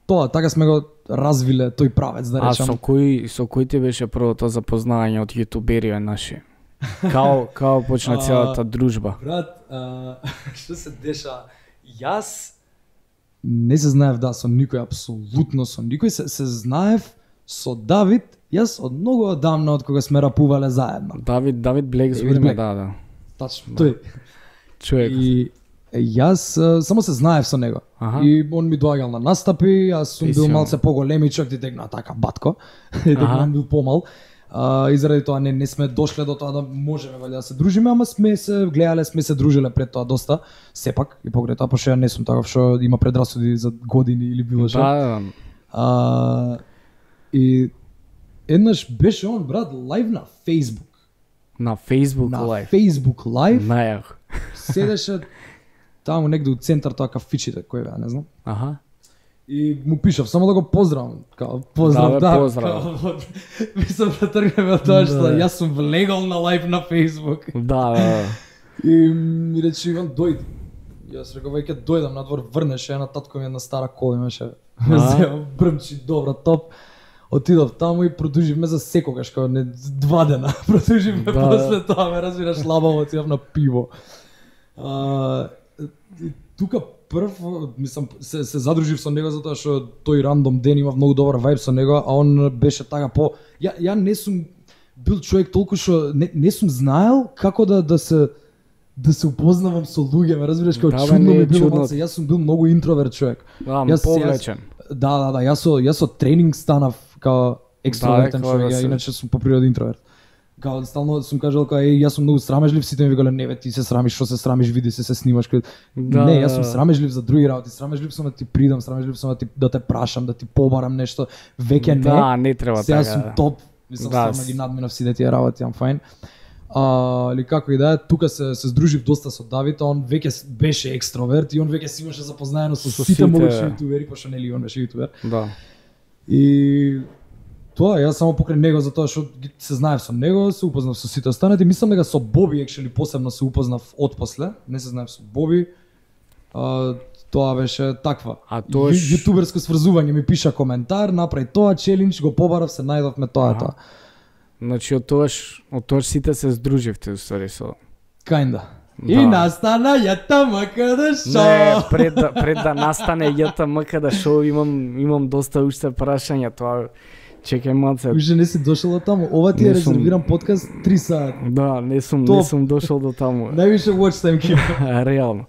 тоа, така сме го развиле тој правец, да А речам. со кој со кој ти беше првото запознавање од јутуберија наши? Као као почна А, целата дружба? Брат, а, што се деша? Јас не се знаев да со никој, апсолутно со никој, се, се знаев со Давид, јас од многу одамна од кога сме рапувале заедно. Давид Давид Блек Давид зборме, Блек. да, да. Тачно, тој. Човек. И е, јас а, само се знаев со него. Аха. И он ми доаѓал на настапи, јас сум И бил си, малце поголемичок, ти тегна така батко, дека Аха. он бил помал. А, и заради тоа не, не сме дошле до тоа да можеме валја да се дружиме, ама сме се гледале, сме се дружиле пред тоа доста, сепак, и покрај тоа, пошто ја не сум таков што има предрасуди за години или било што. Да, да. А, и еднаш беше он, брат, лайв на Facebook. На Facebook На лайв. Facebook лайв, Најах. седеше таму негде у центар тоа кафичите, кој беа, не знам. Аха. И му пишав само да го поздравам, као поздрав, Да, бе, да, поздрав. као, мислам да тргнеме од тоа што Да. јас сум влегол на лайв на Facebook. Да, да, да. И ми рече Иван, дојди. Јас реков, веќе дојдам надвор, врнеше една татко ми една стара кола имаше. А? Зеа брмчи, добра, топ. Отидов таму и продуживме за секогаш, као не два дена. Продуживме Да. после тоа, ме разбираш, лабаво отидов на пиво. А, и тука прв, мислам, се, се задружив со него затоа што тој рандом ден има многу добар вајб со него, а он беше така по... Ја, ја не сум бил човек толку што не, не сум знаел како да да се да се упознавам со луѓе, ме разбираш, како да, чудно не, ми било, чудно. јас сум бил многу интроверт човек. Да, Јас- повлечен. Да, да, да, јас со јас со тренинг станав као екстровертен Да, човек, да ја се- иначе сум по природа интроверт. Као стално сум кажал као еј јас сум многу срамежлив, сите ми викале не бе ти се срамиш, што се срамиш, види се се снимаш. Као... Да, не, да, јас сум да. срамежлив за други работи, срамежлив сум да ти придам, срамежлив сум да ти да те прашам, да ти побарам нешто, веќе не. Да, не треба Сега така. сум топ, мислам Да, стварно с- ги надминав сите тие работи, ам фајн. А, или како и да е, тука се се здружив доста со Давид, а он веќе с- беше екстроверт и он веќе си имаше запознаено со, Со сите сите, могови да. јутубери, пошто нели он беше јутубер. Да. И тоа, јас само покрај него затоа што ги- се знаев со него, се упознав со сите останати, мислам дека со Боби екшели посебно се упознав отпосле, не се знаев со Боби. А, тоа беше таква. А тоаш- Ју- јутуберско сврзување, ми пиша коментар, направи тоа челендж, го побарав, се најдовме, тоа е Аха. тоа. Значи од тоаш, од тоаш сите се здруживте уствари со... Кајнда. Да. И настана ЈТМКД шоу. Не, пред да, пред да настане ЈТМКД шоу имам имам доста уште прашања, тоа чекај малце. Уште не си дошол од таму. Ова ти е Не сум. резервиран подкаст три сати. Да, не сум Топ. не сум дошол до таму. Највише watch time ким. Реално.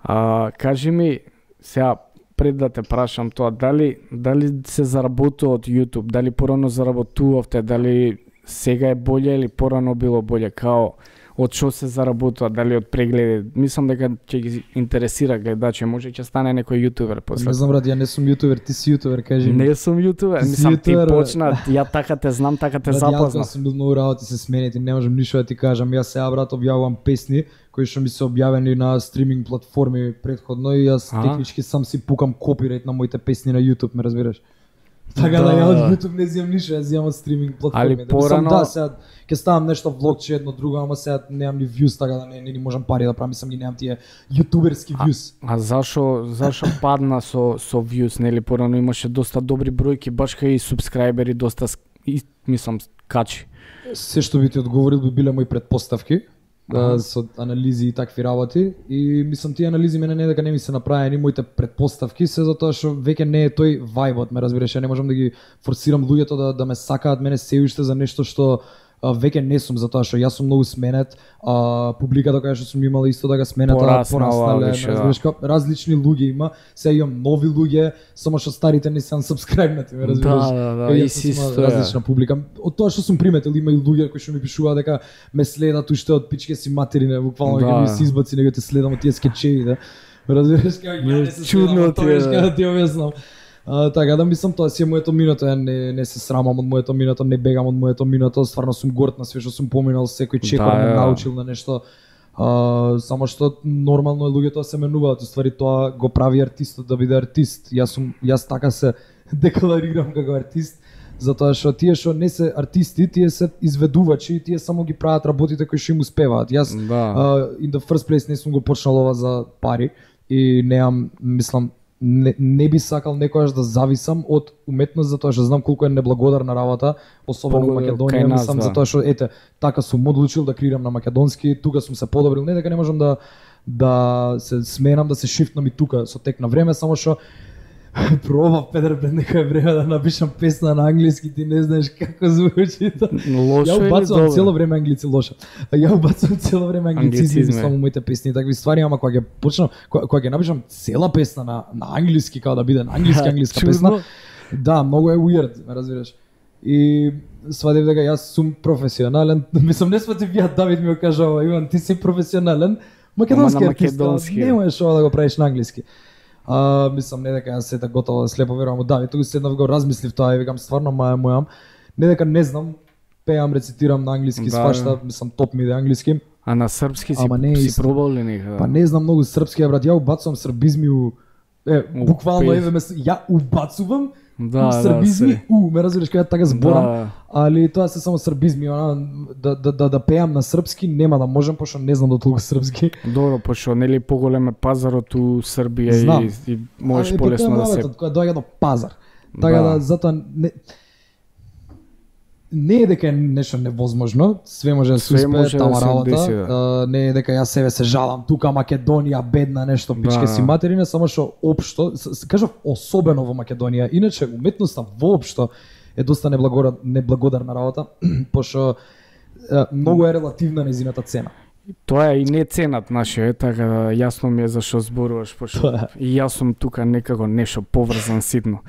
А, кажи ми, сега пред да те прашам тоа, дали дали се заработува од YouTube, дали порано заработувавте, дали сега е боле или порано било боле, као од што се заработува, дали од прегледи? Мислам дека ќе ги интересира гледачи, може ќе стане некој јутубер после. Не знам брат, ја не сум јутубер, ти си јутубер, кажи ми. Не сум јутубер, Ти си мислам ти јутубер, бе. почна, ја така те знам, така те Брат, јас запознав. сум бил многу работи се сменети, не можам ништо да ти кажам. Јас сега брат објавувам песни кои што ми се објавени на стриминг платформи претходно и јас Аха. технички сам си пукам копирајт на моите песни на YouTube, ме разбираш? Така да, Да. ја од YouTube не земам ништо, јас земам од стриминг платформи. Али Да, мислам, порано- да, сега ќе ставам нешто влогче едно друго, ама сега немам ни views, така да не, не ни можам пари да правам, мислам ги немам тие јутуберски views. А зашо зашо падна со со views, нели порано имаше доста добри бројки, баш кај и субскрајбери доста ск- и, мислам качи. Се што би ти одговорил би биле мои предпоставки, Аха. а, со анализи и такви работи и мислам тие анализи мене не дека не ми се направени моите предпоставки, се затоа што веќе не е тој вајбот, ме разбираш, ја не можам да ги форсирам луѓето да да ме сакаат мене се уште за нешто што а, веќе не сум, затоа што јас сум многу сменет, а публиката која што сум имала исто така сменета, Пораснала пораснале, више, ме да. разбираш, како различни луѓе има, сега имам нови луѓе, само што старите не се unsubscribe-нати, ме разбираш. Да, да, да, Кај јас и сум си имал исто е. различна публика. Од тоа што сум приметил, има и луѓе кои што ми пишуваат дека ме следат уште од пичке си материне, буквално Да. ќе ми се избаци него те следам од тие скечеви, да. Разбираш како ја не се Чудно следам, од ти тоа е, што да. да ти објаснам. А, така да мислам тоа си е моето минато, ја не не се срамам од моето минато, не бегам од моето минато, стварно сум горд на све што сум поминал, секој чекор Да, ме да. научил на нешто. А, само што нормално е луѓето да се менуваат, уствари тоа го прави артистот да биде артист. Јас сум јас така се декларирам како артист, затоа што тие што не се артисти, тие се изведувачи и тие само ги прават работите кои што им успеваат. Јас Да. uh, in the first place не сум го почнал ова за пари и неам, мислам, не, не би сакал некојаш да зависам од уметност затоа што знам колку е неблагодарна работа, особено во Погода, кај Македонија, нас, мислам да. затоа што ете, така сум одлучил да креирам на македонски, тука сум се подобрил, не дека не можам да да се сменам, да се шифтнам и тука со тек на време, само што пробав Петер пред некое време да напишам песна на англиски, ти не знаеш како звучи тоа. Лошо Ја или убацувам добро? цело време англици лошо. А ја убацувам цело време англицизми Англицизми. мислам у моите песни и такви ствари, ама кога ќе почнам, кога, кога ќе напишам цела песна на на англиски, како да биде на англиски англиска Чудно. песна, да, многу е weird, ме разбираш. И свадев дека јас сум професионален, мислам не сватив ја, Давид ми го кажа ова, Иван, ти си професионален, македонски Ама на артист, македонски. не можеш ова да го правиш на англиски. А, мислам не дека јас се така готово да слепо верувам у Давид, туку седнав го размислив тоа и викам стварно маја мојам, не дека не знам, пеам, рецитирам на англиски, Да, свашта, да. мислам топ ми да англиски. А на српски си, Ама не е си исто. пробал ли нека? Па не знам многу српски, брат, ја убацувам србизми у е, У буквално пес- еве ме с- ја убацувам Да, у да, србизми, се. у, ме разбираш кога така зборам, Да. али тоа се само србизми, она да да да, да пеам на српски нема да можам пошто не знам до толку српски. Добро, пошто нели поголем е пазарот у Србија Знам. и, и можеш Али, полесно па тоа да е се... работа, кога доаѓа до пазар. Така да, Да. затоа не не е дека е нешто невозможно, све може да се успее тама работа. Деси, да. uh, не е дека јас себе се жалам тука Македонија бедна нешто пичке да. Си материна, само што општо, кажав особено во Македонија, иначе уметноста воопшто е доста неблагодарна, неблагодарна работа, пошто uh, многу е релативна незината цена. Тоа е и не ценат наше, е, така да јасно ми е зашо зборуваш, пошто и јас сум тука некако нешто поврзан ситно.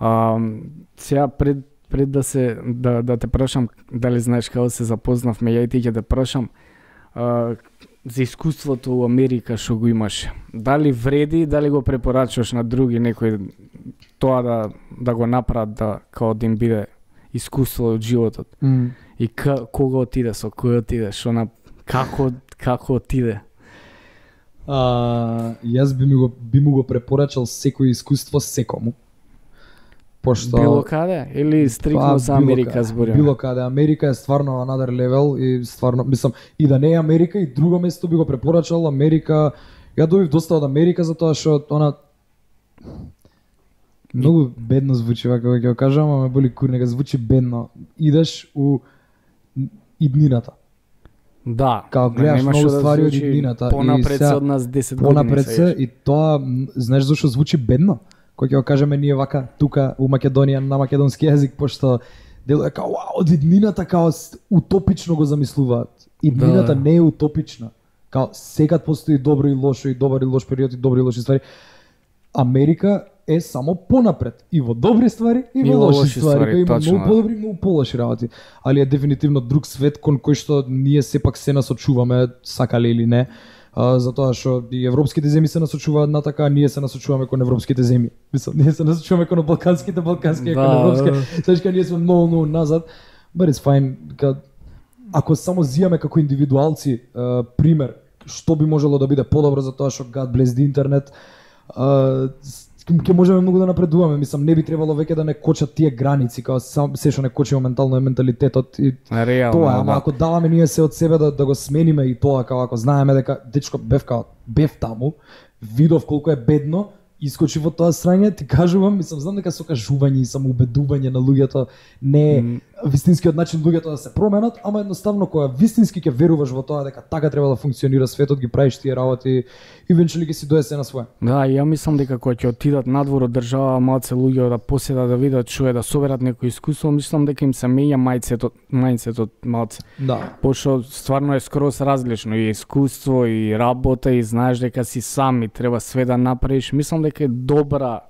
Uh, сега пред пред да се да да те прашам дали знаеш како се запознавме, ја и ти ќе те прашам а, за искуството во Америка што го имаш. Дали вреди, дали го препорачуваш на други некои тоа да да го направат да као да им биде искуство од животот. Mm. И к, кога отиде, со кој отиде, што на како како отиде? А, јас би му го би му го препорачал секој искуство секому. Пошто било каде или стрикно па, за Америка збориме? Било каде, Америка е стварно another level и стварно мислам и да не е Америка и друго место би го препорачал Америка. Ја добив доста од Америка затоа што она многу бедно звучи вака ќе го кажам, ама ме боли курнега звучи бедно. Идеш у иднината. Да, као гледаш многу да ствари од иднината понапред се од нас десет години. Понапред се и тоа знаеш зашто звучи бедно? Кој ќе го кажеме ние вака тука у Македонија на македонски јазик, пошто делува као вау, од иднината као утопично го замислуваат. Иднината да. Не е утопична. Као секад постои добро и лошо и добар и лош период и добри и лоши ствари. Америка е само понапред и во добри ствари и во лоши, лоши ствари, ствари има многу подобри и многу полоши работи, али е дефинитивно друг свет кон кој што ние сепак се насочуваме, сакале или не. Uh, затоа што и европските земји се насочуваат на така, ние се насочуваме кон европските земји. Мислам, ние се насочуваме кон балканските, балкански да, кон европски. Значи ние сме многу многу назад. But it's fine. Ка, ако само зијаме како индивидуалци uh, пример што би можело да биде подобро за тоа што God bless the internet, uh, ќе можеме многу да напредуваме. Мислам, не би требало веќе да не кочат тие граници, као сам се што не кочи моментално е менталитетот и реално, тоа, ама да. Ако даваме ние се од себе да да го смениме и тоа, као ако знаеме дека дечко бев као бев таму, видов колку е бедно, искочи во тоа срање, ти кажувам, мислам, знам дека со кажување и самоубедување на луѓето не е mm. вистинскиот начин луѓето да се променат, ама едноставно кога вистински ќе веруваш во тоа дека така треба да функционира светот, ги правиш тие работи и венчуали ќе си доесе на своја. Да, ја мислам дека кога ќе отидат надвор од држава малце луѓе да поседат да видат што е да соберат некој искуство, мислам дека им се менја мајцетот, мајцетот малце. Да. Пошто стварно е скроз различно и искуство и работа и знаеш дека си сам и треба све да направиш. Мислам дека е добра,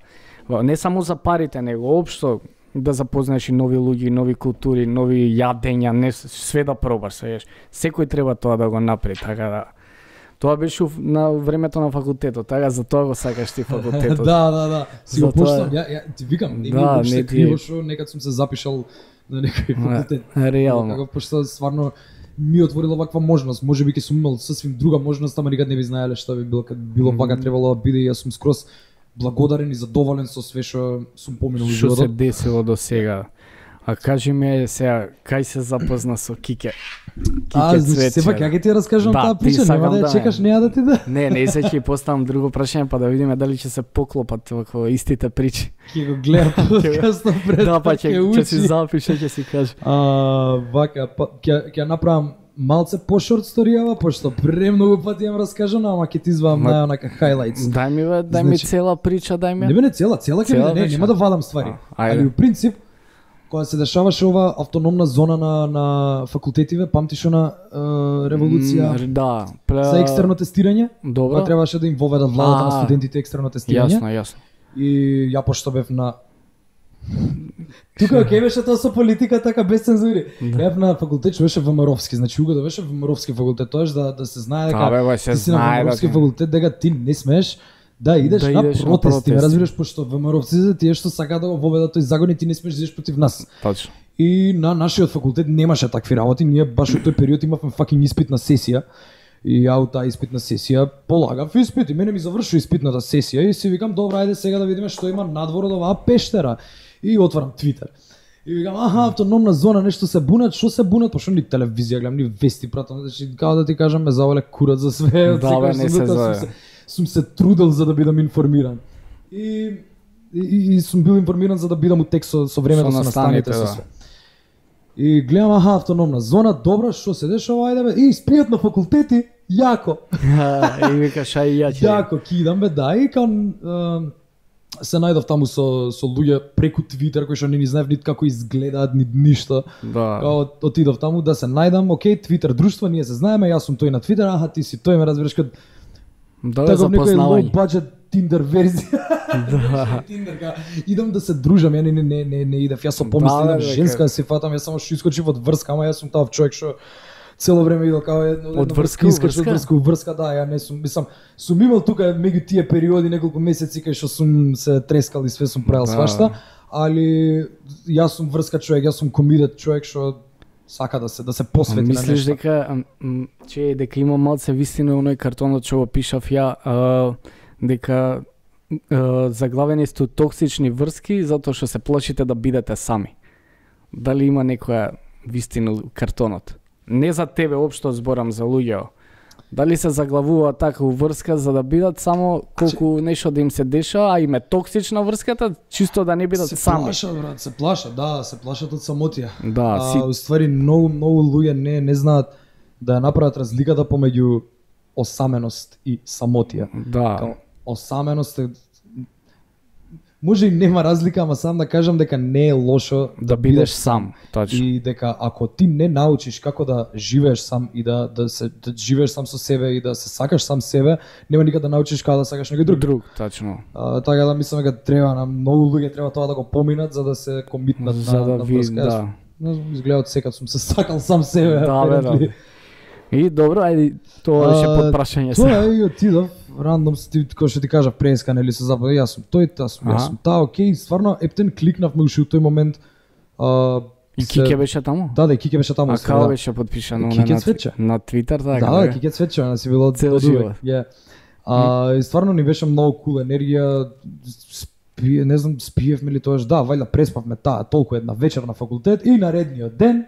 не само за парите, него општо да запознаеш и нови луѓе, нови култури, нови јадења, не све да пробаш, свееш. Секој треба тоа да го направи, така да. Тоа беше на времето на факултетот, така за тоа го сакаш ти факултетот. Да, да, да. Си го поштам, ја, ја ти викам, не да, ми не ти криво што некад сум се запишал на некој факултет. Реално. Како пошто стварно ми отворила ваква можност, можеби ќе сум имал сосвим друга можност, ама никад не би знаеле што би било, кад било вака mm-hmm. требало да биде и јас сум скроз благодарен и задоволен со све што сум поминал во животот. Што се десило до сега? А кажи ми сега, кај се запозна со Кике? Кике а, значи, сепак, ја ќе ти раскажам да, таа прича, нема да ја чекаш, неа да ти да... Не, не, се ќе поставам друго прашање, па да видиме дали ќе се поклопат вако истите причи. Ќе го гледам подкастот пред, да, па ќе, ќе си запише, ќе си кажа. А, вака, па, ќе, ќе направам малце по-шорт сторијава, пошто премногу пати јам раскажано, ама ќе ти извадам на онака highlights. Дај ми бе, дај ми цела прича, дај ми. Не бе, цела, цела ќе биде, не, нема да вадам ствари. А, али у принцип, кога се дешаваше ова автономна зона на на факултетиве, памтиш она е, револуција mm, да, пре... за екстерно тестирање? Добро. Па требаше да им воведат владата на студентите екстерно тестирање. Јасно, јасно. И ја пошто бев на тука ќе беше тоа со политика така без цензури. Да. Ја на факултет што беше ВМРО-вски, значи уго да беше ВМРО-вски факултет, тоа да да се знае дека да, бе, се ти си на ВМРО-вски факултет, дека ти не смееш да идеш да на идеш протести, на разбираш, пошто ВМРО-вците тие што сакаат да го воведат тој закон и ти не смееш да идеш против нас. Точно. И на нашиот факултет немаше такви работи, ние баш во тој период имавме факинг испитна сесија. И ја у таа испитна сесија полагав испит и мене ми заврши испитната сесија и си викам добра, ајде сега да видиме што има надвор од оваа пештера. И отварам Твитер. И викам, аха, автономна зона, нешто се бунат, што се бунат, пошто ни телевизија гледам, ни вести пратам, значи како да ти кажам, ме завале курат за све, да, бе, не се сум, се, сум се трудел за да бидам информиран. И, и, и сум бил информиран за да бидам у текст со, со времето со настаните, со све. И гледам, аха, автономна зона, добра, што се дешава, ајде бе, и спријат на факултети, јако. И викаш, ај ја ќе. Јако, кидам бе, да, и кан се најдов таму со со луѓе преку Твитер кои што не ни знаев нит како изгледаат ни ништо. Да. Као отидов таму да се најдам, окей, Твитер друштво, ние се знаеме, јас сум тој на Твитер, аха ти си тој, ме разбираш кад Да, таков некој запознавање. low budget Tinder верзија. Да. Tinder ка идам да се дружам, ја не не не не, не идев, јас со помисли Да, идам бе, женска да се фатам, јас само што искочив од врска, ама јас сум таа човек што цело време идел као едно Од врска у искаш од врска? врска у врска, да, ја не сум, мислам, сум имал тука меѓу тие периоди неколку месеци кај што сум се трескал и све сум правил Да. свашта, али јас сум врска човек, јас сум committed човек што сака да се да се посвети на Мислиш нешто. дека ам, м, че дека има малце вистина оној картонот што го пишав ја, а, дека а, заглавени сте токсични врски затоа што се плашите да бидете сами. Дали има некоја вистина у картонот? Не за тебе општо зборам за луѓето. Дали се заглавува така у врска за да бидат само колку нешто да им се деша, а им е токсична врската, чисто да не бидат Се сами. плашат, брат, се плашат, да, се плашат од самотија. Да, си А, уствари многу многу луѓе не не знаат да ја направат разликата помеѓу осаменост и самотија. да. Као, осаменост е може и нема разлика, ама сам да кажам дека не е лошо Да бидеш сам, точно. и дека ако ти не научиш како да живееш сам и да да се да живееш сам со себе и да се сакаш сам себе, нема никад да научиш како да сакаш некој друг. Друг, точно. А, така да мислам дека треба на многу луѓе треба тоа да го поминат за да се комитнат За на да на ви, врска. Јас, да. не знам, изгледа од секад сум се сакал сам себе. Да, бе, да. apparently. И добро, ајде, тоа беше А, под прашање Тоа се. е и отидов, рандом ти кој што ти кажа преска нели се забава, јас сум тој, таа сум, јас Аха. сум таа, окей, стварно ептен кликнавме уште у тој момент. А, И се- Кике беше таму? Да, да, и Кике беше таму. А се, како да. беше подпишано Кике на, Цветче. на Твитер, така? Да, да, бе? Кике Цветче, она си било Цел од живот. увек. Ја. А, и стварно ни беше многу кул енергија, спие, не знам, спиевме ли тоаш, да, вајда преспавме таа толку една вечер на факултет и наредниот ден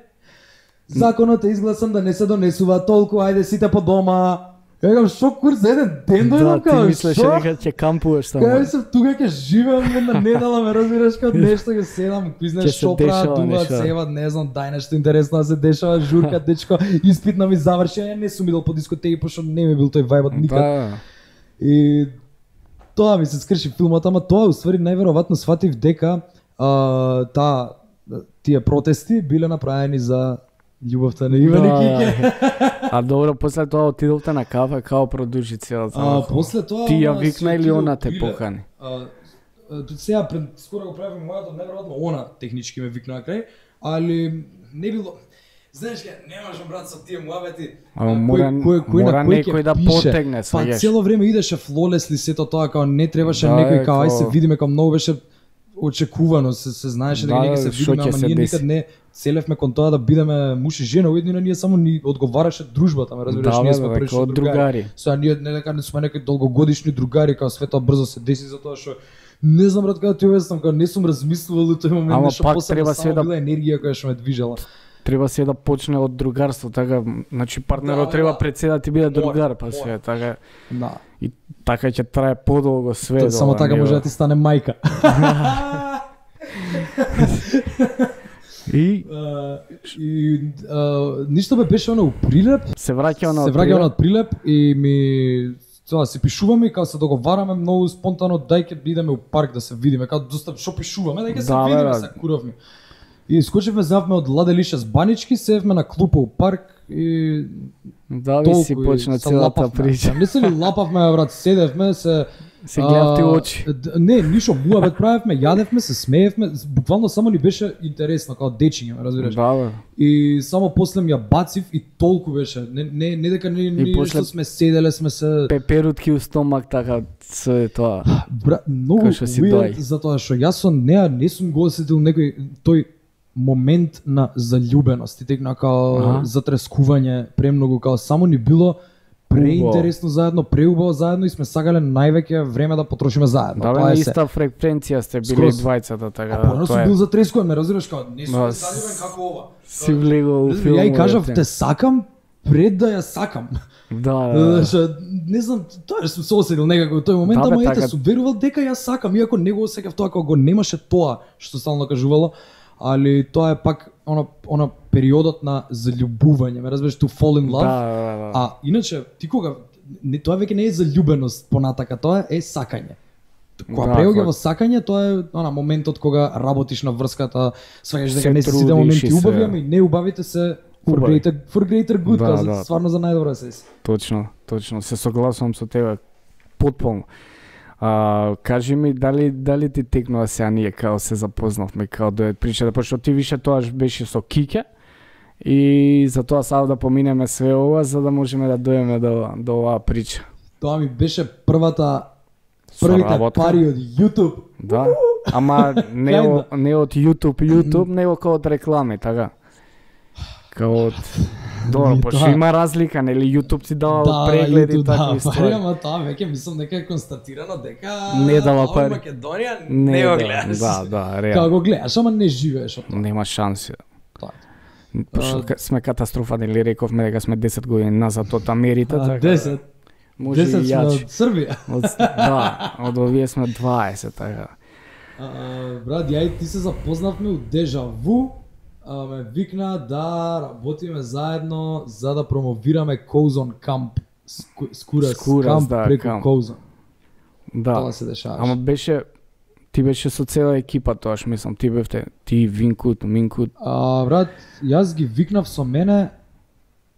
законот е изгласан да не се донесува толку, ајде сите по дома. Ја кажам, шо курс за еден ден Да, дојдам ти као, мислеше шо? дека ќе кампуваш таму. Кај се тука ќе живеам една недела, ме разбираш како нешто ќе седам, кој Ќе знаеш се што дешава прават, дуваат, нешто. севат, не знам, дај нешто интересно да се дешава, журка, дечко, испитна ми заврши, ја не сум идел по дискотеки, пошто не ми бил тој вајбот никад. Да. И тоа ми се скрши филмот, ама тоа уствари најверојатно сватив дека а, таа тие протести биле направени за љубовта на Иван и Кике. А добро, после тоа отидовте на кафе, као продужи целата. А после тоа Ти ја она викна си или отидов она те биле. покани? А, а, тут сега пред скоро го правим мојато, неверојатно она технички ме викна на крај, али не било. Знаеш ке, не можам брат со тие муабети. А, мора- мора некој да потегне, Па сваѓаш. цело време идеше флолесли сето тоа, као не требаше Да, некој е, као ај се као- видиме, као многу беше очекувано, се, се знаеше дека Да, нека се шо видиме, ќе ама се ние деси. никад не целевме кон тоа да бидеме муж и жена, уедно ние само ни одговараше дружбата, ме разбираш, Да, ние бе, сме бе, прилично како другари. другари. Сега ние не дека не сме некои долгогодишни другари, као све тоа брзо се деси затоа што не знам брат како ти објаснам, као не сум размислувал у тој момент, Ама нешто пак посебно, треба само се да- била енергија која што ме движела. Треба се да почне од другарство, така, значи партнерот Да, треба да. пред се да ти биде Мора, другар, па мора. се, така, Да. и така ќе трае подолго све. Тоа до само така него. може да ти стане мајка. И А, и а, ништо бе беше она у Прилеп, се враќа на се враќа она од Прилеп и ми тоа се пишуваме и као се договараме многу спонтано дај ќе бидеме у парк да се видиме, као доста што пишуваме, дај ќе се Да, бе, видиме да. се куровни. И скочивме завме од Ладелише с Банички, севме на клупа у парк и да ви толку си и почна се целата лапавме. прича. Не се ли лапавме, брат, седевме се Се гледав ти а, очи. д- Не, ништо муабет правевме, јадевме, се смеевме, буквално само ни беше интересно као дечиња, ме разбираш. Да, бе. И само после ми ја бацив и толку беше. Не не не дека не не после- што сме седеле, сме се Пеперутки у стомак, така, се тоа. бра, многу Кој што си weird, дој. затоа што јас со неа не сум го осетил некој тој момент на заљубеност и текна као Аха. затрескување премногу, као само ни било преинтересно заедно, преубаво заедно и сме сакале највеќе време да потрошиме заедно. Да, бе, Тоа на е се. иста фреквенција сте били Скроз. двајцата, така А да, порано тоа сум е. бил затрескуван, ме разбираш као не сум Да, заљубен како ова. Си влегол у Ја и филмовете. кажав те сакам пред да ја сакам. Да, да, да. Што не знам, тоа што се осетил некако во тој момент, Да, бе, ама ете така- сум верувал дека ја сакам, иако не го осеќав тоа кога го немаше тоа што стално кажувало, али тоа е пак она она периодот на заљубување, ме разбираш, to fall in love. Да, да, да. А иначе ти кога не, тоа веќе не е заљубеност понатака, тоа е сакање. Кога Да, преоѓа кога- во сакање, тоа е она моментот кога работиш на врската, сваќаш Се дека не се сите трудиш моменти и убави, се. ами не убавите се for Убави. greater, for greater good, Да, да, да. стварно за најдобро се. Точно, точно, се согласувам со тебе потполно. А, кажи ми дали дали ти текнува сега ние као се запознавме, као да причата, пошто ти више тоаш беше со Кике и за тоа сада да поминеме све ова за да можеме да дојдеме до до оваа прича. Тоа ми беше првата Со првите работка. пари од YouTube. Да, ама не, Kinda. о, не од YouTube, YouTube, него као од реклами, така. Као од... Добро, Ми, пошто да. има разлика, нели YouTube ти дава Да, прегледи и YouTube, да, такви пари, ствари. ама тоа веќе мислам дека е констатирано дека Не дава ова пари. Македонија Не, не го да, гледаш. да, да, Како реално. го гледаш, ама не живееш од тоа. Нема шанси. Тоа. Пошто А, ка- сме катастрофа, нели рековме дека сме десет години назад од Америте, А, така. десет, Може десет и сме јачи. од Србија. Од, да, од овие сме дваесет, така. А, брат, ја и ти се запознавме у Дежаву, а, ме викна да работиме заедно за да промовираме Коузон камп, Ску, Скурас, Скурас, камп да, преку камп. Коузон. Да. Тоа се дешаваше. Ама беше ти беше со цела екипа тоаш, мислам, ти бевте, ти Винкут, Минкут. А, брат, јас ги викнав со мене,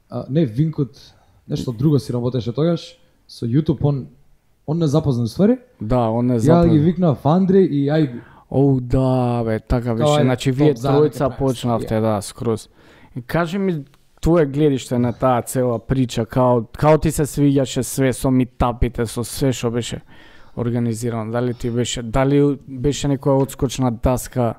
а, не Винкут, нешто друго си работеше тогаш, со YouTube, он, он не запознан ствари. Да, он не Ја запад. ги викнав Андреј и Ајби. Оу, да, бе, така беше. Тоа е Значи, топ вие заедно ќе тројца правиме почнавте, ствари, да, скроз. И кажи ми твое гледиште на таа цела прича, као, као ти се свиѓаше све со митапите, со све што беше организирано. Дали ти беше, дали беше некоја одскочна даска,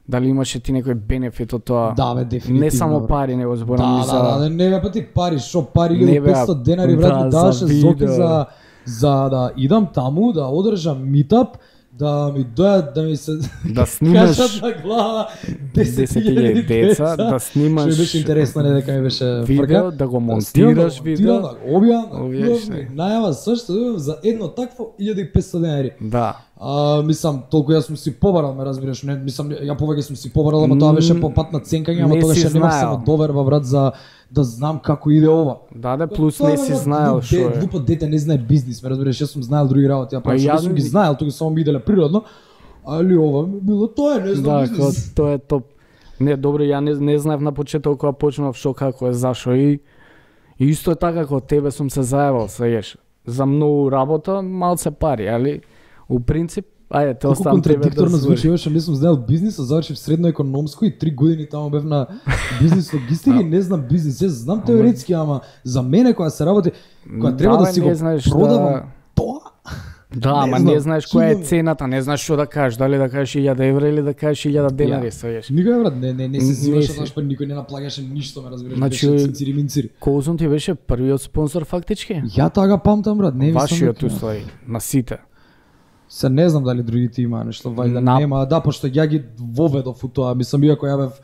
дали имаше ти некој бенефит од тоа? Да, бе, дефинитивно. Не само бе. пари, него зборам Да, и за... да, да, не бе па ти пари, шо пари Не, бе, илјади и петстотини денари, брат, да, ми за даваше Зоки видео. за, за да идам таму, да одржам митап, да ми дојат, да ми се Да снимаш качат на глава десет десет илјади илјади деца, да Што снимаш ми беше интересно, не дека ми беше видео, фрка. да го Да монтираш снимам, видео. Да го објавам, да Објавиш, објавам, не. најава сошто добив за едно такво илјади и петстотини денари. Да. А, мислам, толку јас сум си побарал, ме разбираш, не, мислам, ја повеќе сум си побарал, ама тоа беше по пат на ценкање, ама Не тогаш си ја немав знаел. само доверба, брат, за да знам како иде ова. Да, да, плюс Тоа, не брат, си знаел глуп што де- е. Глупо дете не знае бизнис, ме разбираш, јас сум знаел други работи, а Па па што ја сум ги не- знаел, тука само ми иделе природно. Али ова ми било тоа, е, не знам Да, као, бизнис. тоа е топ. Не, добро, ја не, не знаев на почеток кога почнав што како е, зашо и и исто е така како тебе сум се заебал, сееш. За многу работа, малце пари, али у принцип, ајде, те Колку оставам тебе да контрадикторно звучи, звучи. што не сум знаел бизнис, а завршив средно економско и три години таму бев на бизнис логистика и не знам бизнис. Јас знам теоретски, ама за мене кога се работи, кога треба да бе, си не го знаеш продавам да- тоа, Да, Не ама знам, не знаеш која е километри. цената, не знаеш што да кажеш, дали да кажеш илјада евра или да кажеш илјада денари, сееш. никој брат, не не не се Не зиваше си. тоа што никој не наплаќаше ништо, ме разбираш, Значи, беше цинцири минцири. Коузон ти беше првиот спонзор фактички? Ја тага памтам брат, не мислам. Вашиот дека- уствари, на сите. Се не знам дали другите има нешто, вајда На- нема, да, пошто ја ги воведов у тоа, мислам иако ја бев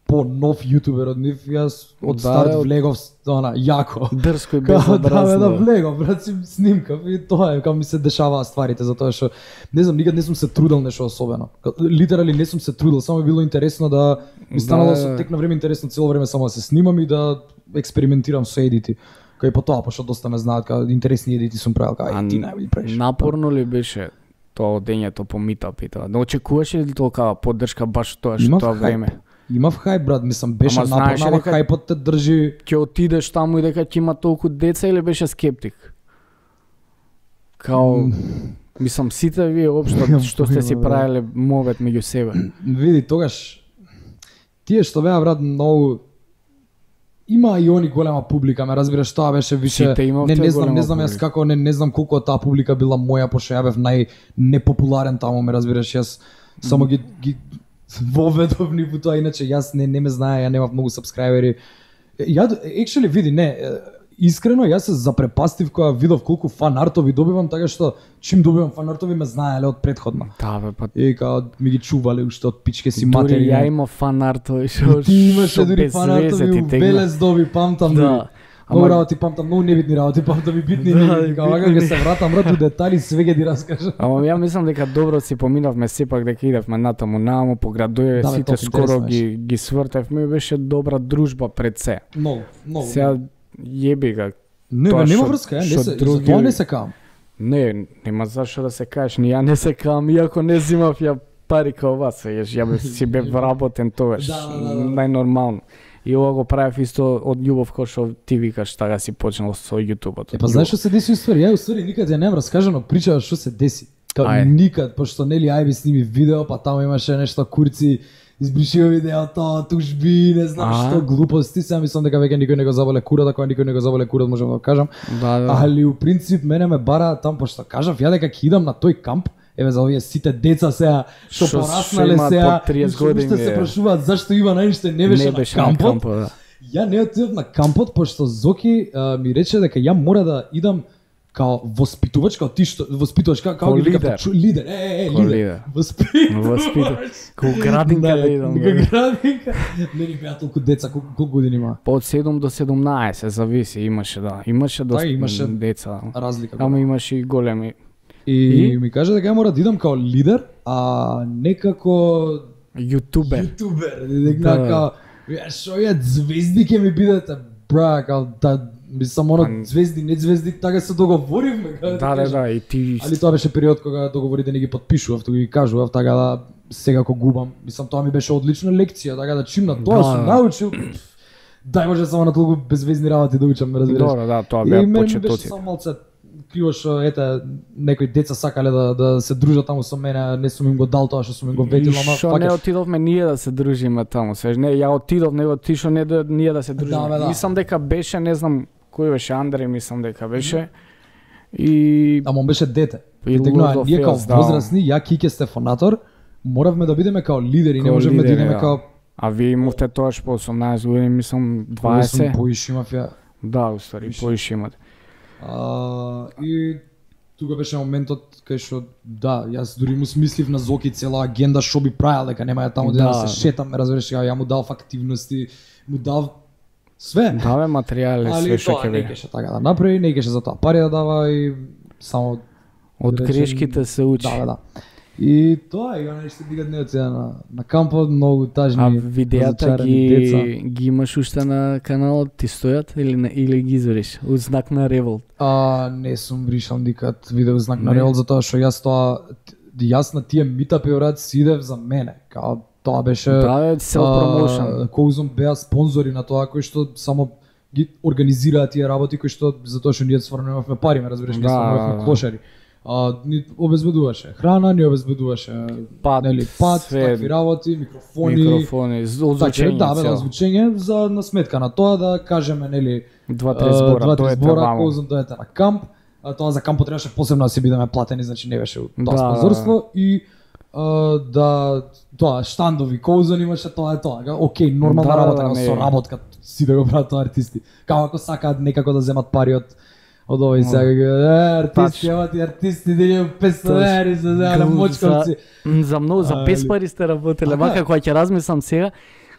по нов јутубер од нив, јас од Да, старт од- влегов она јако. Дрско и Као, да, бе, да безобразно. влегов, брат, си снимкав и тоа е, као ми се дешаваа стварите, затоа што, не знам, никад не сум се трудел нешто особено. Ка- Литерали не сум се трудел, само ми било интересно да, ми станало Да. со тек на време интересно цело време само да се снимам и да експериментирам со едити. Кај по тоа, пошто доста ме знаат, као интересни едити сум правил, као, А ај, ти најболи правиш. Напорно ли беше тоа одењето по митап и тоа? Но очекуваше ли толкава поддршка баш тоа што Имав тоа хајп. време? Имав хајп, брат, мислам, беше Ама знаеш напорно, ама дека- хајпот те држи. Ќе отидеш таму и дека ќе има толку деца или беше скептик? Као, мислам, сите вие општо Немам што сте си појма, брат. правеле мовет меѓу себе. Види, тогаш, тие што беа, брат, многу, има и они голема публика, ме разбираш, тоа беше више, Сите имавте не, не знам, голема не знам јас публика. како, не, не знам колку од таа публика била моја, пошто ја бев нај непопуларен таму, ме разбираш, јас само ги, ги воведов ни во тоа, иначе јас не, не ме знае, ја немав многу сабскрајбери. Ја, actually, види, не, е, искрено, јас се запрепастив кога видов колку фан-артови добивам, така што, чим добивам фан-артови ме знаеле од предходно. Да, бе, па И као ми ги чувале уште од пичке си дури матери. ја има фан артови што Ти имаше што дури без фан-артови везе ти у тегна. Белес доби, памтам дури. Да. Многу работи памтам, многу небитни работи памтам и битни Да, небитни. и Као вака битни. ќе се вратам брат у детали, све ќе ти раскажам. Ама ја мислам дека добро си поминавме сепак дека идевме натаму наму по градове, Да, бе, сите толку скоро интересно ги ги свртевме, беше добра дружба пред се. Многу, многу. Сега јеби ga. Не, тоа бе, нема што- врска, е, не што се, други- за тоа не се кам. Не, нема зашо да се кажеш, ни ја не се кам, иако не зимав ја пари као вас, сееш, ја бе си бев вработен тогаш, Да, да, да, да. најнормално. И ова го правев исто од љубов кој што ти викаш, така си почнал со јутубот. Е, па знаеш што се деси уствари? Ја уствари никад ја немам раскажано причава што се деси. Као Ајде. никад, пошто нели ајби сними видео, па таму имаше нешто курци, избришио видеото, тужби, не знам А. што, глупости, сега мислам дека веќе никој не го заболе курат, ако никој не го заболе курат, можам да го кажам. Да, да. Али у принцип мене ме бара там, пошто кажав ја дека ќе идам на тој камп, еве за овие сите деца сега што Што- пораснале што имаат сега, по триесет што години, уште се е. прашуваат зашто Иван Ајнштеин не беше, не на беше на кампот. кампот, да. Ја не отидов на кампот, пошто Зоки а, ми рече дека ја мора да идам као воспитувач, као ти што, воспитувач, као, као Као ги вика, лидер. чу- лидер, е, е, е, Као лидер. лидер. Воспитувач. Воспитувач. Као градинка да идам, Дека да. градинка. Не ни беа толку деца, колку, колку години има? Па од седум до седумнаесет, зависи, имаше да. Имаше доста имаше деца. Разлика. Ама имаше и големи. И, И? ми каже дека ја мора да идам као лидер, а не како Јутубер. јутубер. Дека Да. као, ја шо ја звезди ќе ми бидете, бра, као да, мислам оно Па- звезди, не звезди, така се договоривме. како Да, ти да, кажам. да, и ти Али тоа беше период кога договорите не ги потпишував, туку ги кажував, така да сега кога губам. Мислам тоа ми беше одлична лекција, така да чим на тоа Да, сум да. научил. пф, Дај може само на толку безвезни работи да учам, ме разбираш. Добро, да, тоа И беа мене ми беше почетоци. само малце криво што ете некои деца сакале да да се дружат таму со мене, не сум им го дал тоа што сум им го ветил, И ама Што не фаќаш. отидовме ние да се дружиме таму, сеж не, ја отидов, него ти што не да ние да се дружиме. бе, да. Мислам дека беше, не знам кој беше Андреј, мислам дека беше. И Ама он беше дете. И И тегнува, Lord of ние као Chaos, да. возрастни, ја Кике Стефанатор, моравме да бидеме као лидери, не Као можевме да лидери, идеме да. као а вие имавте тоаш по осумнаесет години, мислам Сум дваесет. поиш имав ја. Да, уствари, поише имате. А, и тука беше моментот кај што да, јас дури му смислив на Зоки цела агенда што би правел, дека нема ја таму да, Да. да се шетам, ме разбираш, ја му дав активности, му дав све. Да, бе, материјали, све Али што тоа ќе не биде. кеше така да направи, не кеше за тоа пари да дава и само Од да речем, грешките се учи. Да, да, да. И тоа и она што дигат не сега на на кампот многу тажни. А видеата разочарани деца. ги ги имаш уште на каналот, ти стојат или не, или ги изориш? Од знак на револт. А, не сум бришал никад видео знак на Не. револт затоа што јас тоа јас на тие митапи брат си идев за мене. Као тоа беше Да, бе, self promotion. Коузом беа спонзори на тоа кои што само ги организираат тие работи кои што затоа што ние стварно немавме пари, ме разбираш, ние Да, стварно да, немавме да. клошари. А, ни обезбедуваше храна, ни обезбедуваше Пат, нели пат, све, такви работи, микрофони. Микрофони, з- озвучење, Така, да, бе, цел. озвучење за на сметка на тоа да кажеме нели Два-три збора, два-три дојдете збора, ваму. Коузом дојдете на камп. А, тоа за кампот требаше посебно да си бидеме платени, значи не беше тоа Да, спонзорство и а, да тоа штандови Коузон имаше тоа е тоа. Га, Океј, нормална Да, работа, да, да, не. со работка си да го прават тоа артисти. Као ако сакаат некако да земат пари од од овој сега е, артисти, Тач. ова ти артисти да песто Тач. ери се земат на Гл- мочковци. М, За многу, за Али- без пари сте работеле. Така Вака е. кога ќе размислам сега,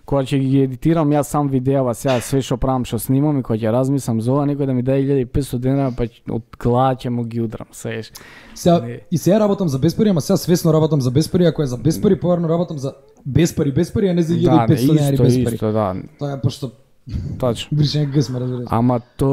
кога ќе ги едитирам јас сам видеава сега све што правам, што снимам и кога ќе размислам за ова, некој да ми даде илјада и петстотини денари, па ќе- од глава ќе му ги удрам, сееш. Сега, Не. и сега работам за без пари, ама сега свесно работам за без пари, ако е за без пари, поварно работам за без пари, без пари, а не за Да, илјада и не, петстотини денари исто, без пари. исто, да, Тоа е пошто точно. бришење гс ме разбираш. Ама то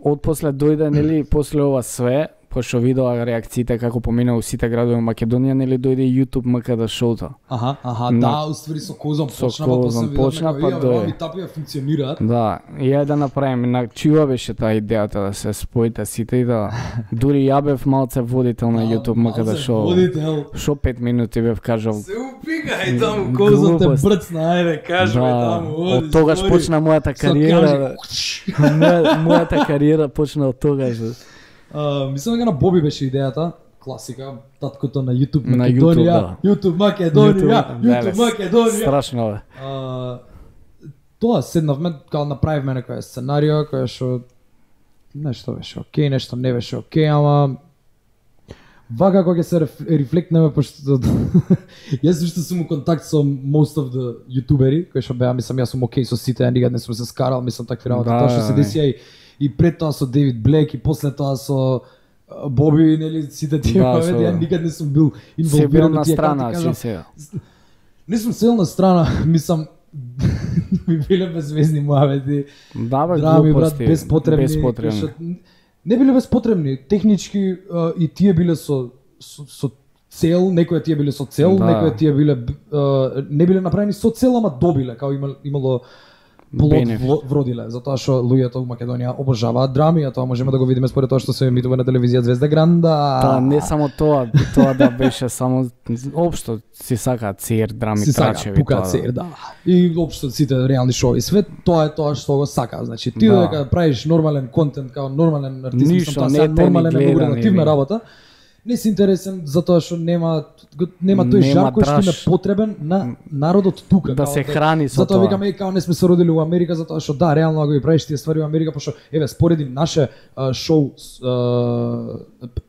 отпосле дојде, нели, после ова све, пошто видоа реакциите како помина у сите градови во Македонија, нели дојде и YouTube МКД шоуто. Аха, аха, На- да, уствари со Козом Со почна, па Козом после почна, видовме па како, дојде. Овие тапија функционираат. Да, и ја да направиме, на чија беше таа идејата да се споите сите и да дури ја бев малце водител на YouTube МКД шоу. Водител. Шо пет минути бев кажал. Се упикај таму, Козом те Глупост. брцна, ајде, кажи ми Да, таму, оди, од тогаш збори. почна мојата Со кариера. кажи. Моја- Мојата кариера почна од тогаш. А, Мислам дека на Боби беше идејата, класика, таткото на YouTube На Македонија, YouTube, да. YouTube Македонија, YouTube, YouTube леле, Македонија. Страшно е. А, Тоа седнавме, као направивме некоја сценарио која што нешто беше окей, нешто не беше окей, ама Вака кога ќе се реф, рефлектнеме, пошто јас уште сум у контакт со most of the ютубери, кои што беа, мислам, јас сум окей со сите, никад не сум се скарал, мислам такви работи, Да, тоа што се да, деси и, и пред тоа со Дейвид Блек и после тоа со а, Боби, нели, сите тие Да, моменти, со- ја никад не сум бил Се бил инволвиран на во тие, како страна, ти си кажам, сега. не сум сел на страна, мислам, ми биле безвезни муавети, Да, бе, драми, брат, глупости, безпотребни, безпотребни. кои што не биле безпотребни, технички а, и тие биле со, со, со цел, некои тие биле со цел, Да. некои тие биле а, не биле направени со цел, ама добиле, као имало, имало плод Бенефит. вlo- вродиле, затоа што луѓето у Македонија обожаваат драми, а тоа можеме да го видиме според тоа што се емитува на телевизија Звезда Гранда. Та, не само тоа, тоа да беше само општо си сакаат цер, драми, си сака, трачеви, пука тоа. цер, да. И општо сите реални шоуи свет, тоа е тоа што го сака. Значи ти Да. дека правиш нормален контент као нормален артист, Ништо, мислам, тоа не сега те ни нормален е многу гледани, релативна ви. работа. Не си интересен затоа што нема нема тој Нема жар кој што им е драж. потребен на народот тука. Да као се храни со затоа тоа. викаме е, као не сме се родили у Америка затоа што да, реално ако ги правиш тие ствари у Америка, пошто еве спореди наше а, шоу с, а,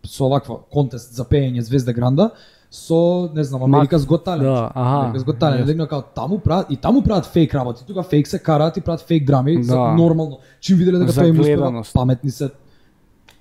со ваква контест за пеење Звезда Гранда со, не знам, Америка's Got Talent. Да, аха. America's Got Talent, легно као таму прават и таму прават фейк работи. Тука фейк се караат и прават фейк драми, за Да. нормално. Чим виделе дека За тоа им успева, гледаност. паметни се.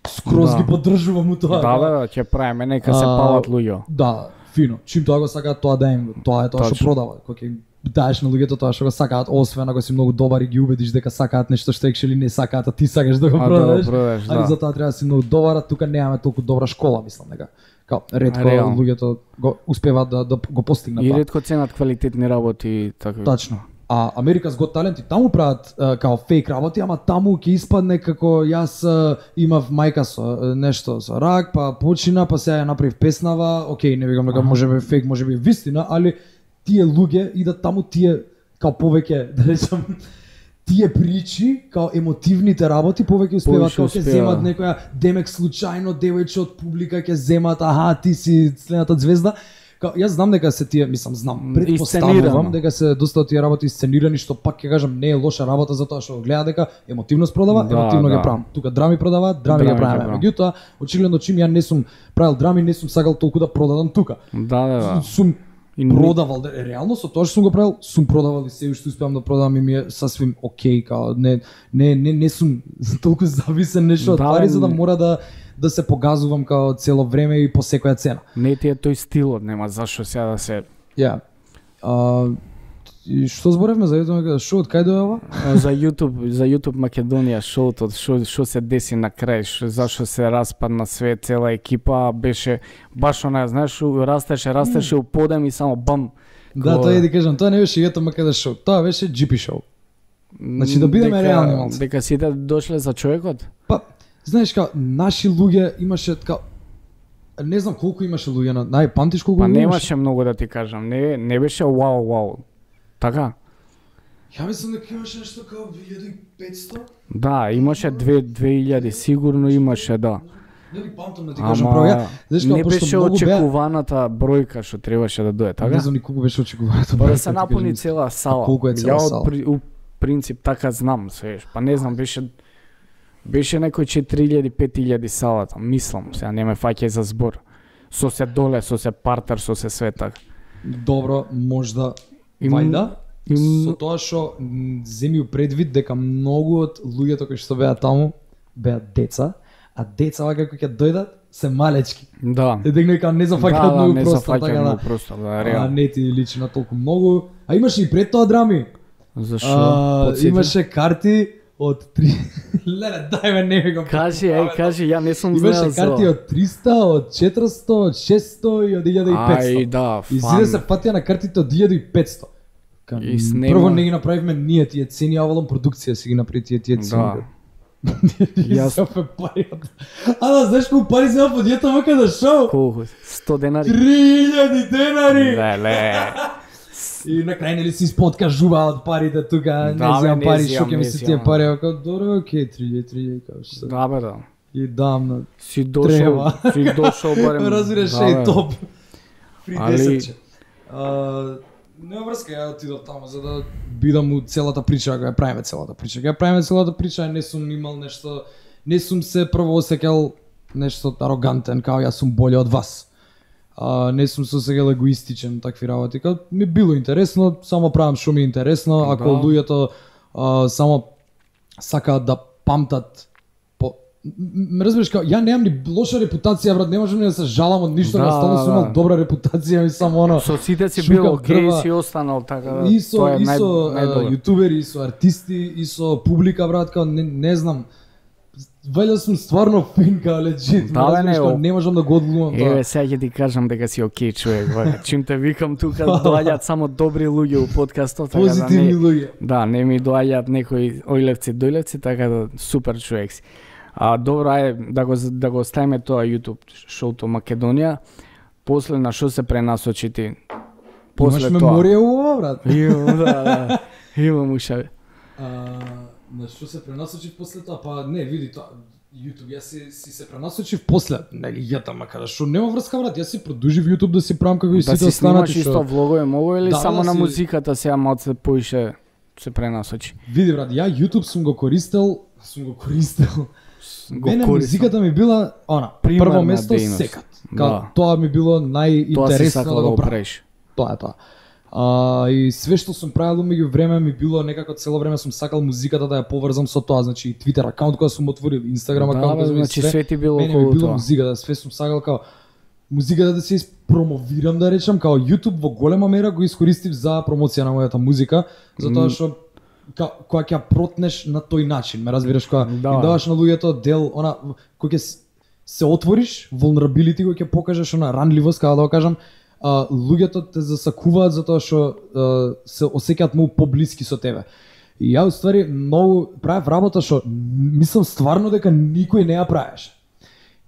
Скроз Да. ги поддржувам у тоа. Да, бе, да, ќе правиме, нека се А, палат луѓе. Да, фино. Чим тоа го сакаат, тоа да им, тоа е тоа што Точно. продава. Кога ќе даеш на луѓето тоа што го сакаат, освен ако си многу добар и ги убедиш дека сакаат нешто што екшели не сакаат, а ти сакаш да го А, да го продадеш. продадеш, Али да. за тоа треба да си многу добар, а тука немаме толку добра школа, мислам дека. Као ретко Реално. луѓето го успеваат да да го постигнат И тоа. ретко ценат квалитетни работи и така. Тачно. А America's Got Talent и таму прават а, као фейк работи, ама таму ќе испадне како јас а, имав мајка со а, нешто со рак, па почина, па сега ја направив песнава, окей, не викам дека може би фейк, може би вистина, али тие луѓе идат таму тие као повеќе, да речам, тие причи, као емотивните работи, повеќе успеваат, Повеќе као ќе успеа. земат некоја демек случајно девојче од публика ќе земат, аха, ти си следната звезда. Као, јас знам дека се тие, мислам, знам, М, предпоставувам исценирано. дека се доста од тие работи сценирани, што пак ќе кажам не е лоша работа затоа што гледа дека емотивност продава, Да, емотивно да. ги правам. Тука драми продаваат, драми, Драми ги ги правиме. правам. Меѓутоа, очигледно чим ја не сум правил драми, не сум сакал толку да продадам тука. Да, да, да. Сум И не- продавал, да, реално со тоа што сум го правил, сум продавал и се уште успеам да продавам и ми е сасвим окей, као не не не не сум толку зависен нешто од Да, пари бе, за да не. мора да да се погазувам као цело време и по секоја цена. Не ти е тој стилот, нема зашо сега да се Ја. А, и што зборевме за тоа шоу, од кај дојде ова? за YouTube, за YouTube Македонија шоуто, што што се деси на крај, што зашо се распадна све, цела екипа, беше баш она, знаеш, у- растеше, растеше у подем и само бам. Да, Ко- тоа е да кажам, тоа не беше Јето Македа шоу, тоа беше Джи Пи шоу. Значи, да бидеме Дека- реални малце. Дека сите дошле за човекот? Па, знаеш као, наши луѓе имаше као, не знам колку имаше луѓе на, нај памтиш колку Па луѓе имаше? немаше многу да ти кажам, не не беше вау вау. Така? Ја мислам дека имаше нешто као илјада и петсто. Да, имаше две две илјади, сигурно имаше, да. Не ги памтам да ти кажам право. Ја, Ама знаеш како не пошто беше многу беа, очекуваната бројка што требаше да дое, не така? знам ни колку беше очекуваното. Па да се напуни цела сала. колку е цела Ја од сала? при- у принцип така знам, свеш. Па не знам, беше беше некој четири илјади пет илјади салата, мислам, сега не ме фаќај за збор. Со се доле, со се партер, со се све така. Добро, можда И м- вајда. и м- Со тоа што м, земи у предвид дека многу од луѓето кои што беа таму беа деца, а деца вака кои ќе дојдат се малечки. Да. Е дека нека не Да, зафаќаат да, многу не простор, така зафаќа да. многу простор, да, А, реално. не ти личи на толку многу. А имаше и пред тоа драми. Зашо? А, Потсети? имаше карти од три. Леле, дај ме, не ми го. Кажи, еј, кажи, ја не сум Имаше знаел за карти ова. од триста, од четиристо, од шестsto и од илјада и петсто. Ај, да, И фан. зиде се патија на картите од илјада и петсто. Ка, И снема- Прво не ги направивме ние тие цени, а овалам продукција си ги направи тие тие цени. Да. Јас Јас- опе пари. А да знаеш колку пари зема под Јето Македа шоу? Колку? сто денари? три илјади денари. Леле. И на крај нели си исподкажуваат парите тука, не Да, бе, земам не пари, земам, што ќе ми не се тие земам. пари, ако добро, окей, три илјади, три илјади, како што. Да, бе, да. И дам на Си дошол, Треба. си дошол барем. разбираш да, е бе. топ. Фри Али- десетче. А, нема врска, ја отидов таму за да бидам у целата прича, ако ја правиме целата прича. Ако ја правиме целата прича, не сум имал нешто, не сум се прво осеќал нешто арогантен, као јас сум боле од вас. А, не сум се осеќал егоистичен, такви работи. Као, ми било интересно, само правам што ми е интересно, ако Да. луѓето а, само сакаат да памтат по... Ме разбираш, као, ја немам ни лоша репутација, брат, не можам ни да се жалам од ништо, Да, наставно сум да. имал добра репутација, ми само оно... Со сите си шукав бил окей, дрва. си останал така да. И со, тоа е и нај, со најдобро. а, јутубери, и со артисти, и со публика, брат, као, не, не знам. Вајде сум стварно фин, као, легит, Да, бе, разбираш, не, као, о. не можам да го одлувам тоа. Еве, сега ќе ти кажам дека си окей човек, бе. Чим те викам тука доаѓаат само добри луѓе у подкастот, така да Позитивни не, луѓе. да, не ми доаѓаат некои ојлевци, дојлевци, така да супер човек си. А добро, ајде да го да го оставиме тоа YouTube шоуто Македонија. После на што се пренасочи ти? После Имаш тоа. меморија ова, брат. Имам, да, да. Имам ушаве. А, на што се пренасочив после тоа? Па не, види тоа. YouTube, јас си, си се пренасочив после, нели, јата макар што нема врска, брат, јас си продолжив YouTube да си правам како и Да сите си останати снимаш што. исто влогови, мого или Да, само да на си- музиката сега малце поише се пренасочи? Види, брат, ја YouTube сум го користел, сум го користел. Го Мене користам. музиката ми била, она, Примерна прво место дејност. секат. Као, Да. тоа ми било Тоа си најинтересно сакал да да го го правам. правиш. Тоа е тоа. А, и све што сум правил меѓу време ми било некако цело време сум сакал музиката да ја поврзам со тоа, значи и Twitter акаунт кој сум отворил, Instagram Да, акаунт бе, кој сум значи све ти било мене ми околу било тоа. музиката, све сум сакал као музиката да се испромовирам, да речам, као YouTube во голема мера го искористив за промоција на мојата музика, затоа што ка, кога ќе ја протнеш на тој начин, ме разбираш, кога Да. им даваш на луѓето дел, она кој ќе с- се отвориш, vulnerability кој ќе покажеш, она ранливост, како да го кажам, а, луѓето те засакуваат затоа што а, се осеќаат многу поблиски со тебе. И ја уствари многу правев работа што мислам стварно дека никој не ја правеше.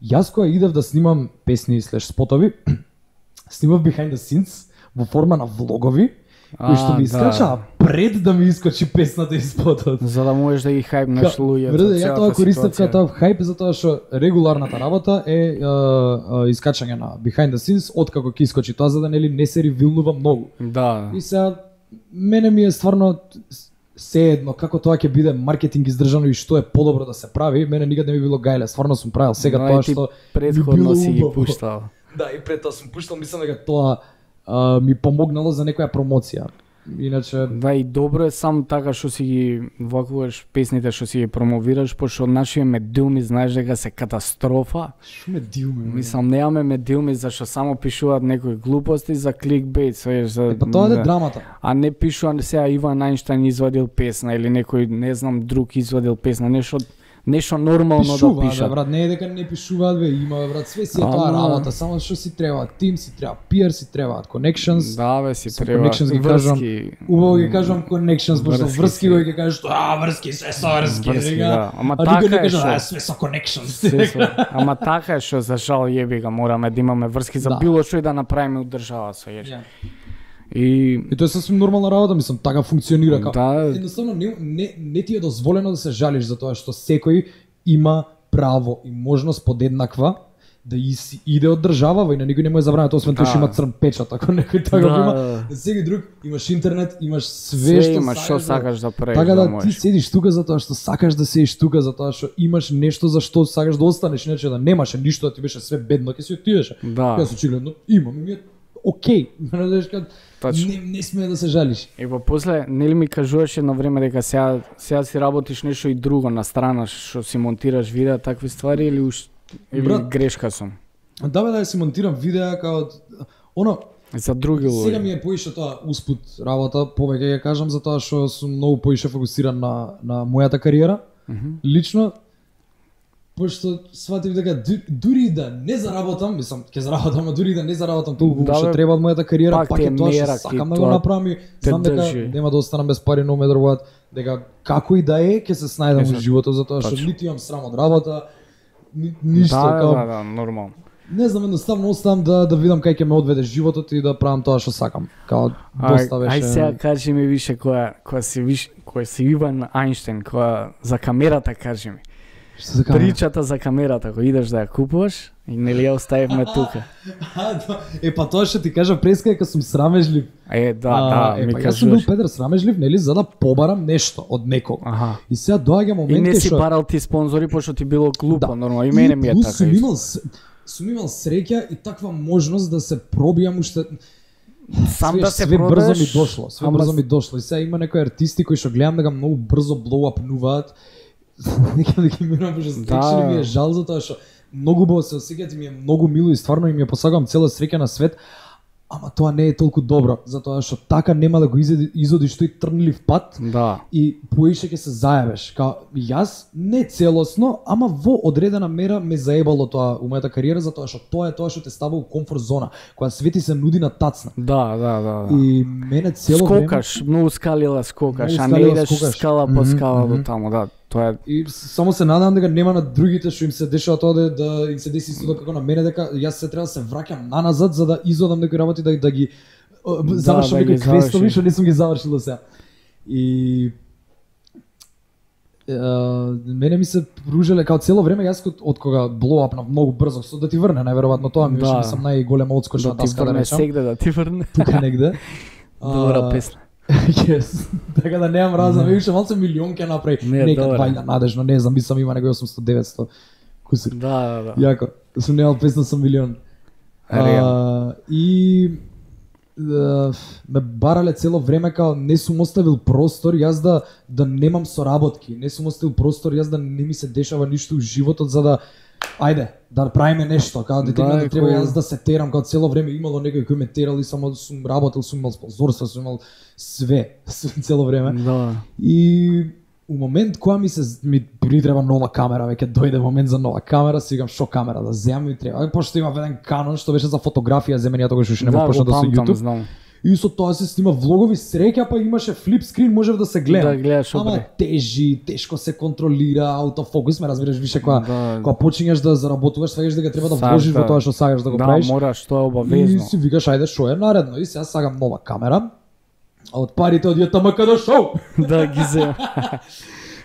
Јас кога идев да снимам песни слеш спотови, снимав behind the scenes во форма на влогови, кои што А, ми да. искачаа пред да ми искочи песната и спотот. За да можеш да ги хајпнеш луѓето. Вреде, ја тоа целата користев ситуација. како хајп затоа што регуларната работа е а, а, искачање на behind the scenes откако ќе искочи тоа за да нели не се ревилнува многу. Да. И сега мене ми е стварно се едно како тоа ќе биде маркетинг издржано и што е подобро да се прави, мене никад не ми било гајле, стварно сум правил сега Да, и тоа ти што предходно било си ги убаво. пуштал. Да, и пред тоа сум пуштал, мислам дека тоа а, ми помогнало за некоја промоција. Иначе Да, и добро е сам така што си ги вакуваш песните што си ги промовираш, пошто нашите медиуми знаеш дека се катастрофа. што ме дилме. Мислам, немаме медиуми зашто само пишуваат некои глупости за кликбейт, свеж за Е, па тоа е за- драмата. а не пишува сега Иван Ајнштајн извадил песна или некој не знам друг извадил песна, нешто нешто нормално да Пишуваат, бе, пишат. брат, не е дека не пишуваат, бе, има, бе, брат, све си е тоа Ама- работа, само што си треба тим, си треба пиар, си требаат connections. Да, бе, си Со треба connections ги кажам, врски. Убаво ги кажам connections, пошто Врски врски си. го ќе кажеш, а врски се со врски, Врски, сега. да. Ама А така никој не е каже, што- а све со connections. Се со- Ама така е што за жал јеби ga мораме да имаме врски за Да. било што и да направиме у држава со јеш. Ја. И И тоа е сосвим нормална работа, мислам, така функционира како. Да. Едноставно не, не, не ти е дозволено да се жалиш за тоа што секој има право и можност подеднаква да и си иде од држава, и на никој не му е забрано тоа, освен тоа Да. што има црн печат, ако некој така Да, го има. да. На секој друг имаш интернет, имаш све, све што имаш што сакаш, сакаш да правиш, така да, да ти можеш. седиш тука затоа што сакаш да седиш тука, затоа што имаш нешто за што сакаш да останеш, иначе да немаше ништо, да ти беше све бедно, ќе си отидеше. Да. Јас очигледно имам, и ми е окей. Знаеш кад Точно. не не сме да се жалиш. И во после нели ми кажуваше на време дека сега сега си работиш нешто и друго на страна што си монтираш видеа, такви ствари или уш или Брат, грешка сум. Да бе, да ја си монтирам видеа као оно За други сега луѓе. ми е поише тоа успут работа, повеќе ја кажам затоа што сум многу поише фокусиран на на мојата кариера. Лично пошто сватив дека ду- дури да не заработам, мислам, ќе заработам, а дури да не заработам толку Да, што бе, треба од мојата кариера, пак пак ти е е тоа што мерак и сакам да го тоа направам и те знам дека држи. нема да останам без пари, no matter what, дека како и да е, ќе се снајдам Е, во животот затоа што точно. ниту имам срам од работа, ни, ништо Да, као да, да, нормално. не знам, едноставно оставам да да видам кај ќе ме одведе животот и да правам тоа што сакам. Као доста беше. Ај сега кажи ми више која која си виш која си Иван Ајнштајн, која за камерата кажи ми. Што за камера? Причата за камерата, кој идеш да ја купуваш, И нели ја оставивме тука. Е, па тоа што ти кажа преска дека сум срамежлив. Е, да, да, е, ми па, јас сум бил кажуваш. педер срамежлив, нели, за да побарам нешто од некого. Аха. И сега доаѓа И момент не си што барал ти спонзори пошто ти било глупо, Да. нормално. И мене ми е плюс така. Сум исто. имал, с- сум имал среќа и таква можност да се пробијам уште. Сам да се све брзо продадеш. ми дошло, све ама брзо с- ми дошло. И сега има некои артисти кои што гледам дека многу брзо блоуапнуваат. Нека да ги мирам, пошто Да. да. ми е жал за тоа што многу убаво се осеќаат и ми е многу мило и стварно им ја посагам цела среќа на свет. Ама тоа не е толку добро, затоа што така нема да го изоди, изодиш тој трнлив пат Да. и поише ќе се заебеш. Као јас не целосно, ама во одредена мера ме заебало тоа у мојата кариера, затоа што тоа е тоа што те става у комфорт зона, која свети се нуди на тацна. Да, да, да. да. И мене цело време Скокаш, многу скалила скокаш, Многу а не скалила идеш скокаш. скала по Мгм, скала до мгм. таму, да. Тоа е и с- само се надам дека нема на другите што им се дешава тоа да, да им се деси исто како на мене, дека јас се треба да се враќам наназад за да изодам некои работи да, да ги Да, завршам да ги некои квестови завршиш. што не сум ги завршил до сега. И е, мене ми се пружеле као цело време јас од, од кога блоуапнав многу брзо, со да ти врне најверојатно тоа ми Да. беше сам најголема одскочна да ти таска да врне речам. сегде, да ти врне. Тука негде. Добра А, песна. Yes. Така да немам разум, више малце милион ќе направи. Не, Нека добре. двајда надежно, не знам, мислам има некој осумстотини деветстотини кусур. Да, да, да. Јако, сум немал песна со милион. Реално. А, и е, ме барале цело време као не сум оставил простор јас да да немам соработки, не сум оставил простор јас да не ми се дешава ништо у животот за да ајде да правиме нешто, као дека Да, има да е треба cool. јас да се терам, као цело време имало некој кој ме терал и само сум работел, сум имал спонзорства, сум имал све цело време. Да. И у момент кога ми се ми притреба нова камера, веќе дојде момент за нова камера, си викам што камера да земам ми треба. Пошто има еден Canon што беше за фотографија, земење тогаш уште нема Да, почна го да со памтам, YouTube. знам. И со тоа се снима влогови, среќа па имаше флип скрин, можев да се гледам. Да гледаш Ама опре. тежи, тешко се контролира, аутофокус, ме разбираш више кога Да. кога почињаш да заработуваш, сваѓаш дека треба да Сак, вложиш во да. тоа што сакаш да го Да, правиш. мораш, тоа е И обавезно. си викаш ајде што е наредно и сега сагам нова камера. А од парите од ЈТМК до шоу. Да ги земам.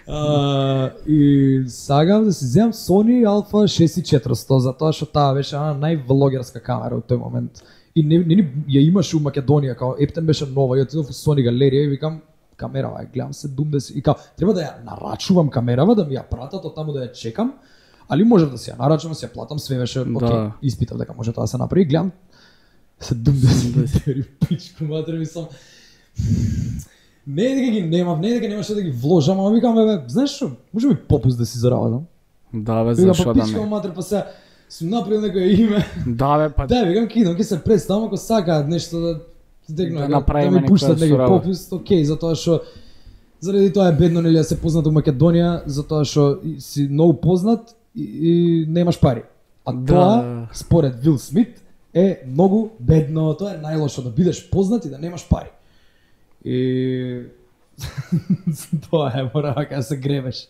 Uh, и сагам да си земам Sony Alpha шест тисячи и четиристотини, затоа што таа беше една највлогерска камера од тој момент. И не, не, ни ја имаше у Македонија, као ептен беше нова, ја отидов у Sony галерија и викам камерава, ја гледам седумдесет и као треба да ја нарачувам камерава да ми ја пратат од таму да ја чекам, али можев да си ја нарачувам, си ја платам, све беше Да. окей, испитав дека може тоа да се направи, гледам седумдесет еври пичку матер ми сам. Не е дека ги немав, не е дека немаше да ги вложам, ама викам бе, знаеш што, може би попуст да си заработам. Да, бе, Викам зашо па да пичка не. матер, па сега сум направил некое име. Да, бе, па Да, викам ќе идам, ќе се представам ако сакаат нешто да дегнат, Да да, направиме да ми некоја пуштат некој соработа. попуст, окей, затоа што заради тоа е бедно нели да се познат у Македонија, затоа што и- си многу познат и, и немаш пари. А Да. тоа според Вил Смит е многу бедно, тоа е најлошо да бидеш познат и да немаш пари. И тоа е, мора да се гребеш.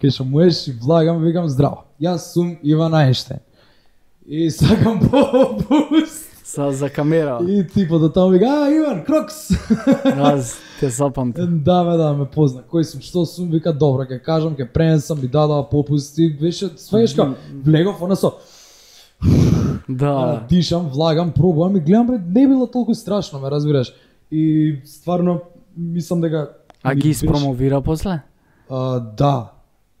Кај што можеш и влагам, викам здраво. Јас сум Иван Ајнштајн. И сакам попуст. са за камера. И типот до таму вика, а, Иван, Крокс. Да, те запамтам. Да, бе, да, ме позна. Кој сум, што сум, вика, добро, ќе кажам, ќе пренесам, ми дадаа попуст и беше, сваѓаш ка, влегов, она со, Да. ана, дишам, влагам, пробувам и гледам, бе, не било толку страшно, ме разбираш. И стварно, мислам дека... А ми ги беше- испромовира после? А, да.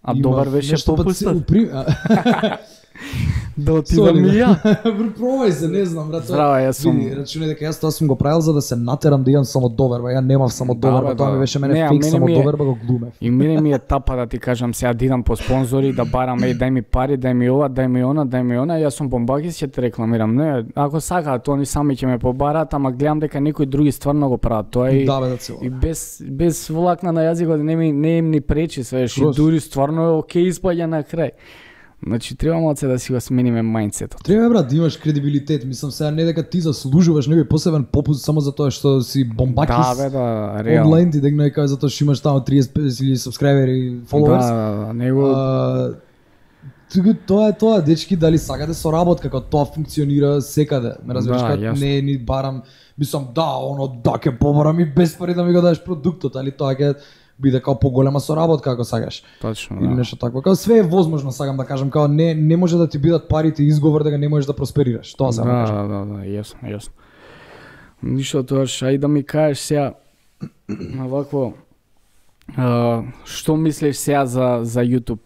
А Има добар беше нешто па попустот? се- упри- а, Да отидам и ја. Пробај се, не знам, брат. Здраво, јас сум- Види, рачунај дека јас тоа сум го правил за да се натерам да имам самодоверба. Ја немав самодоверба, Да, бе, тоа да. ми беше Не, мене а фейк мене ми е- самодоверба, го глумев. И мене ми е тапа да ти кажам сега да идам по спонзори, да барам, еј, дај ми пари, дај ми ова, дај ми она, дај ми она, јас сум бомбакис, ќе те рекламирам. Не, ако сакаат, они сами ќе ме побараат, ама гледам дека некои други стварно го прават тоа и Да, бе, да цело. и без без влакна на јазикот не ми не им ни пречи, свеш, и Скроз. дури стварно е окей испаѓа на крај. Значи треба малце да си го смениме мајндсетот. Треба брат да имаш кредибилитет, мислам сега не дека ти заслужуваш некој посебен попуст само затоа што си бомбакис. Да, бе, да, реално. онлайн ти дегна дека затоа што имаш таму триесет илјади сабскрајбери, Да, фоловерс. да, да, него А, туку тоа е тоа, дечки, дали сакате соработка, како тоа функционира секаде. Ме разбираш, Да, како јасно. не ни барам, мислам да, оно да ќе побарам и без пари да ми го дадеш продуктот, али тоа ќе биде као поголема соработка ако сакаш. Точно, Или да. нешто такво. Као све е возможно, сакам да кажам, као не не може да ти бидат парите изговор да ga не можеш да просперираш. Тоа сакам да Да, кажам. да, да, да, јасно, јасно. Ништо тоа, ај да ми кажеш сега вакво а, што мислиш сега за за YouTube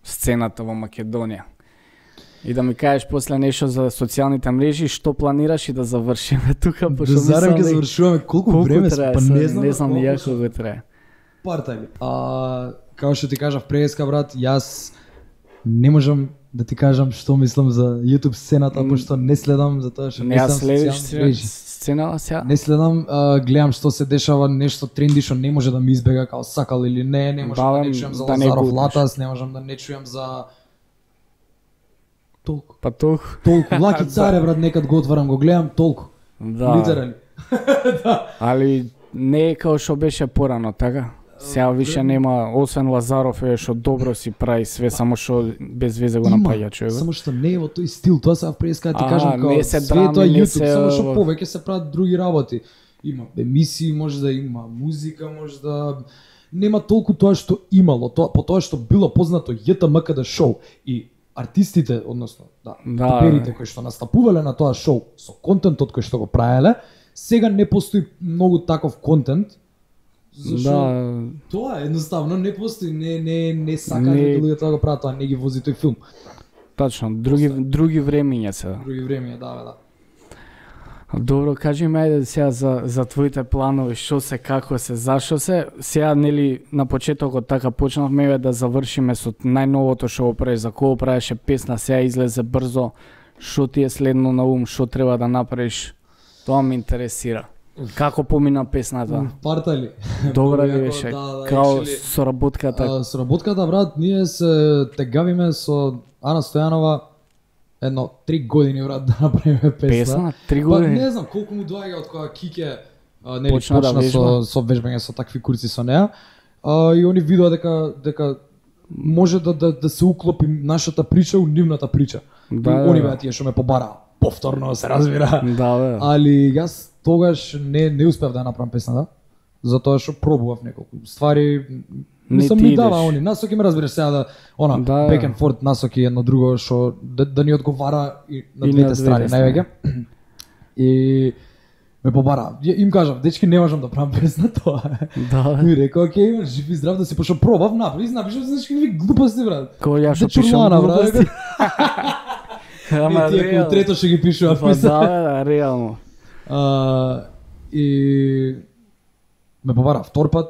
сцената во Македонија? И да ми кажеш после нешто за социјалните мрежи, што планираш и да завршиме тука, Да пошто зарем мислам ќе дека- завршуваме колку, колку време, трае, па се, не знам, не знам ни колку ја се- колку трае. Партајли. А како што ти кажав преска брат, јас не можам да ти кажам што мислам за YouTube сцената, М. пошто не следам за тоа што Не не ја следам следиш социјални се- мрежи. сценава сега? Не следам, а, гледам што се дешава, нешто тренди што не може да ми избега као сакал или не, не можам да, Да, не чујам за да не Лазаров губиш. Латас, не можам да не чујам за толку. Па толку. Толку Лаки Царе брат, некад го отварам, го гледам толку. Да. Литерали. Али не е као што беше порано, така? Сега више нема, освен Лазаров е што добро си прави све, само што без везе го напаѓа човекот. Само што не е во тој стил, тоа сега преска да ти А, кажам као не се све драми, тоа не YouTube, се- само што повеќе се прават други работи. Има емисии, може да има музика, може да нема толку тоа што имало, тоа по тоа што било познато J T M K D шоу и артистите, односно, да, Да. перите кои што настапувале на тоа шоу со контентот кој што го правеле, сега не постои многу таков контент. Зашо Да, тоа едноставно не постои, не не не сакаат Не- луѓето да го прават, тоа не ги вози тој филм. точно, други други времиња се. Други време, да, бе, да. Добро, кажи ми ајде сега за за твоите планови, што се, како се, зашо се. Сега нели на почетокот така почнавме бе да завршиме со најновото што го правиш, за кого правеше песна, сега излезе брзо. Што ти е следно на ум, што треба да направиш? Тоа ме интересира. Како помина песната? Партали. Добра ли Многу јако, беше? да, да, Као actually, соработката? а, Соработката, брат, ние се тегавиме со Ана Стојанова едно три години, брат, да направиме песна. Песна? Три Па години? не знам колку му доаѓа од кога Кике а, нели, Почна почна, да со, вежба. со вежбање со такви курци со неа. А, и они видоа дека дека може да, да, да се уклопи нашата прича у нивната прича. Да, И да, они да. беа тие што ме побараа. Повторно се разбира. Да, бе. Али јас тогаш не не успев да ја направам песната, затоа што пробував неколку ствари. Не Мислам ти ми дава идеш. они насоки, ме разбираш сега да она Да. back and forth насоки едно друго што да, да ни одговара и на И на двете двете страни страни. највеќе. И ме побара. Ја- Им кажав, дечки не можам да правам песна тоа. е. Да, И рекол, окей, имаш жив и здрав да си пошо пробав, направи, напишав знаеш какви глупости брат. Кој ја што Де пишам чурлана, брат. глупости. Ама Не, тие кои реално. трето што ги пишував. Па да, бе, да, реално. А, и ме побара втор пат.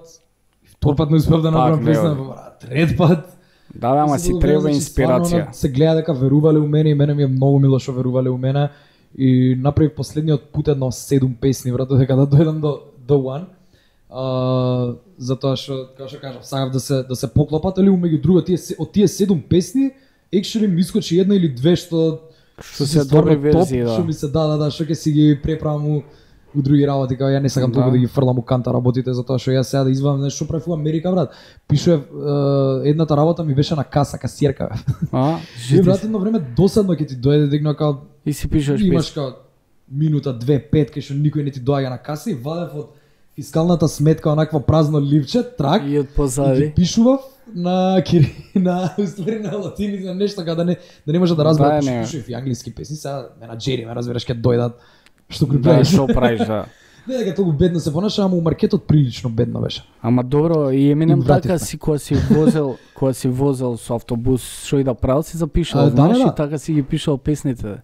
Втор пат не успев да направам Пак, песна, не, ме побара трет пат. Да, бе, ама И се си го треба гледам, значи, инспирација. стварно, се гледа дека верувале у мене и мене ми е многу мило што верувале у мене. И направив последниот пат едно седум песни, брат, дека да дојдам до до one. А, затоа што, како што кажав, сакав да се да се поклопат, али меѓу друго тие се- од тие седум песни, actually ми искочи една или две што Што си се стварно добри топ, верзии, да. Што ми се да, да, да, што ќе си ги преправам у, у други работи, као ја не сакам Да. толку да ги фрлам у канта работите, затоа што јас сега да извадам нешто што правев у Америка, брат. Пишував е, едната работа ми беше на каса, касиерка. А, И брат, едно време досадно ќе ти дојде дигно као И си пишеш имаш песна. као минута, две, пет, кај што никој не ти доаѓа на каса и вадев од фискалната сметка онакво празно ливче, трак, И од и позади. ги пишував на кири, на уствари на латини, на нешто као да не да не може да разберат, Да, пошто не. пишував и англиски песни, сега менаџери, ме разбираш, ќе дојдат што го Да, правиш. што правиш, да. Не дека толку бедно се понаша, ама у маркетот прилично бедно беше. Ама добро, и Еминем И вративме. така си кога си возел, кога си возел со автобус, што и да правил си запишал, А, да, знаеш, да, и да. така си ги пишал песните.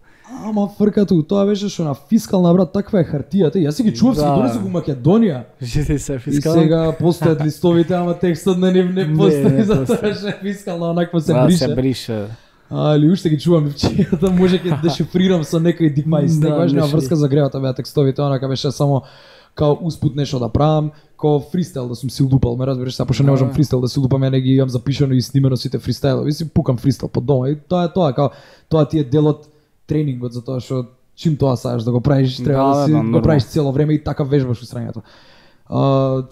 Ама фркато, тоа беше што на фискална брат, таква е хартијата. Јас си ги чував, си Да. ги донесов у Македонија. Жити се И фискал. сега постојат листовите, ама текстот на нив не Не, постои, не затоа постои. што е фискална онакво се Да, брише. се брише. Али уште ги чувам ивчијата, може ќе дешифрирам со некој дипмајс, Да, некојаш нема нешто. врска за гревата беа текстовите, онака беше само као успут нешто да правам, као фристайл да сум си лупал, ме разбираш, сега пошто не можам Да. фристайл да си лупам, ја не ги имам запишано и снимено сите фристайлови, си пукам фристайл по дома и тоа е тоа, као тоа ти е дел од тренингот, затоа што чим тоа сакаш да го правиш, треба Да, да, си да, го нормално. правиш цело време и така вежбаш устрањето. А,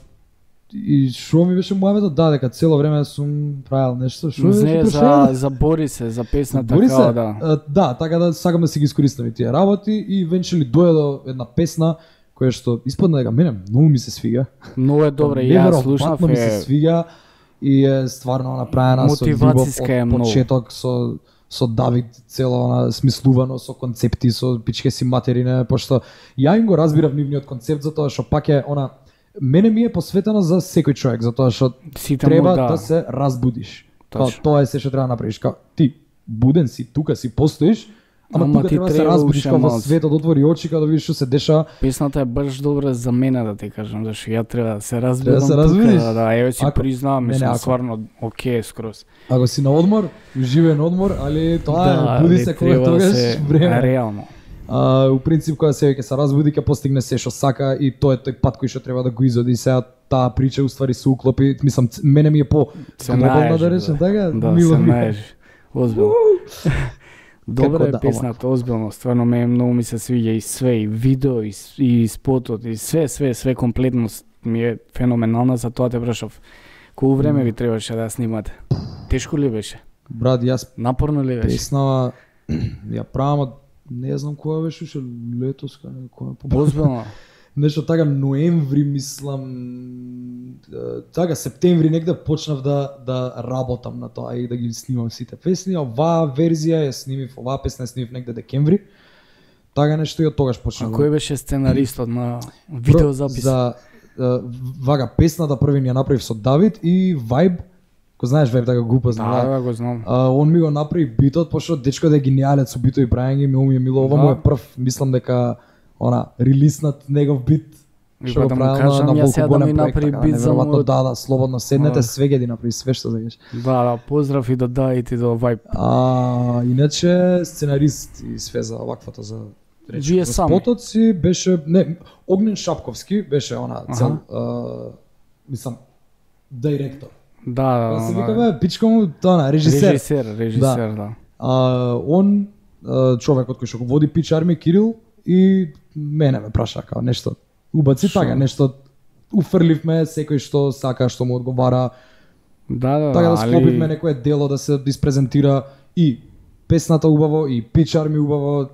и што ми беше мојавето, да, дека цело време сум правил нешто, што Не, беше за, прашање? за Бори се, за песната Бори као се, да. а, да, така да сакам да си ги искористам и тие работи и венчели дојде до една песна кое што испадна дека мене многу ми се свига. Многу е добре, ја слушнав ми се е свига и е стварно направена со љубов мотивацијска е од многу. почеток со со Давид цело она смислувано со концепти, со пичке си материне, пошто ја им го разбирав нивниот концепт затоа што пак е она мене ми е посветено за секој човек затоа што Сите треба му, да. да се разбудиш. Као, Точно. тоа е се што треба да направиш. Као, ти буден си, тука си постоиш, ама, Ама тука ти треба да се треба разбудиш уште као во малку. светот, отвори очи као да видиш што се дешава. Песната е баш добра за мене да ти кажам, зашто ја треба да се разбудам. Треба да се тука, разбудиш? Да, да, еве си Ако- признавам, не, не, мислам ако- стварно окей скроз. Ако си на одмор, живеен одмор, али тоа Да, е, буди али се кога треба да тогаш се време. реално. А, у принцип кога се ќе се разбуди ќе постигне се што сака и тоа е тој пат кој што треба да го изоди. Сега таа прича уствари се уклопи, мислам ц- мене ми е по Се глобална наежи, да речем така, Да, мило се ми е. наежи. Озбилно. Добра Како е да, песната, озбилно, стварно ме многу ми се свиѓа и све, и видео, и, с- и спотот, и све, све, све комплетност ми е феноменална, за тоа те прашав. Колку време ви требаше да ја снимате? Тешко ли беше? Брат, јас Напорно ли беше? песнава ја правам од не знам која беше уште летос, кај која по Озбилно. нешто така ноември мислам е, така септември негде почнав да да работам на тоа и да ги снимам сите песни. Оваа верзија ја снимив, оваа песна ја снимив негде декември. Така нешто и од тогаш А почнав. кој беше сценаристот на видеозапис? За е, вага песната први ни ја направив со Давид и Vibe. Кој знаеш Vibe, така го упознав. Да, да, го знам. А, он ми го направи битот, пошто дечко да е гениалец со битови прајање, ми ми е мило, ова Да. му е прв, мислам дека она релиснат негов бит. И Што па го да му правил кажам, на ја сега да волку ми голем направи проект, така, бит за неверојатно, мојот- да, да, слободно седнете, Да. све ги направи, све што сакаш. Да, да, поздрав и до Давид и до Vibe. А, иначе сценарист и све за ваквото за речи. Вие сами? Спотот си беше не Огнен Шапковски беше она цел Аха. а, мислам директор. Да, да, Па се да, викаме пичко му тоа на режисер. Режисер, режисер, да. А, он а, човекот кој што го води Pitch Army Кирил и мене ме праша као нешто убаци Шо? така нешто уфрливме секој што сака што му одговара Да, да, така да али- склопивме некое дело да се испрезентира и песната убаво и Pitch Army убаво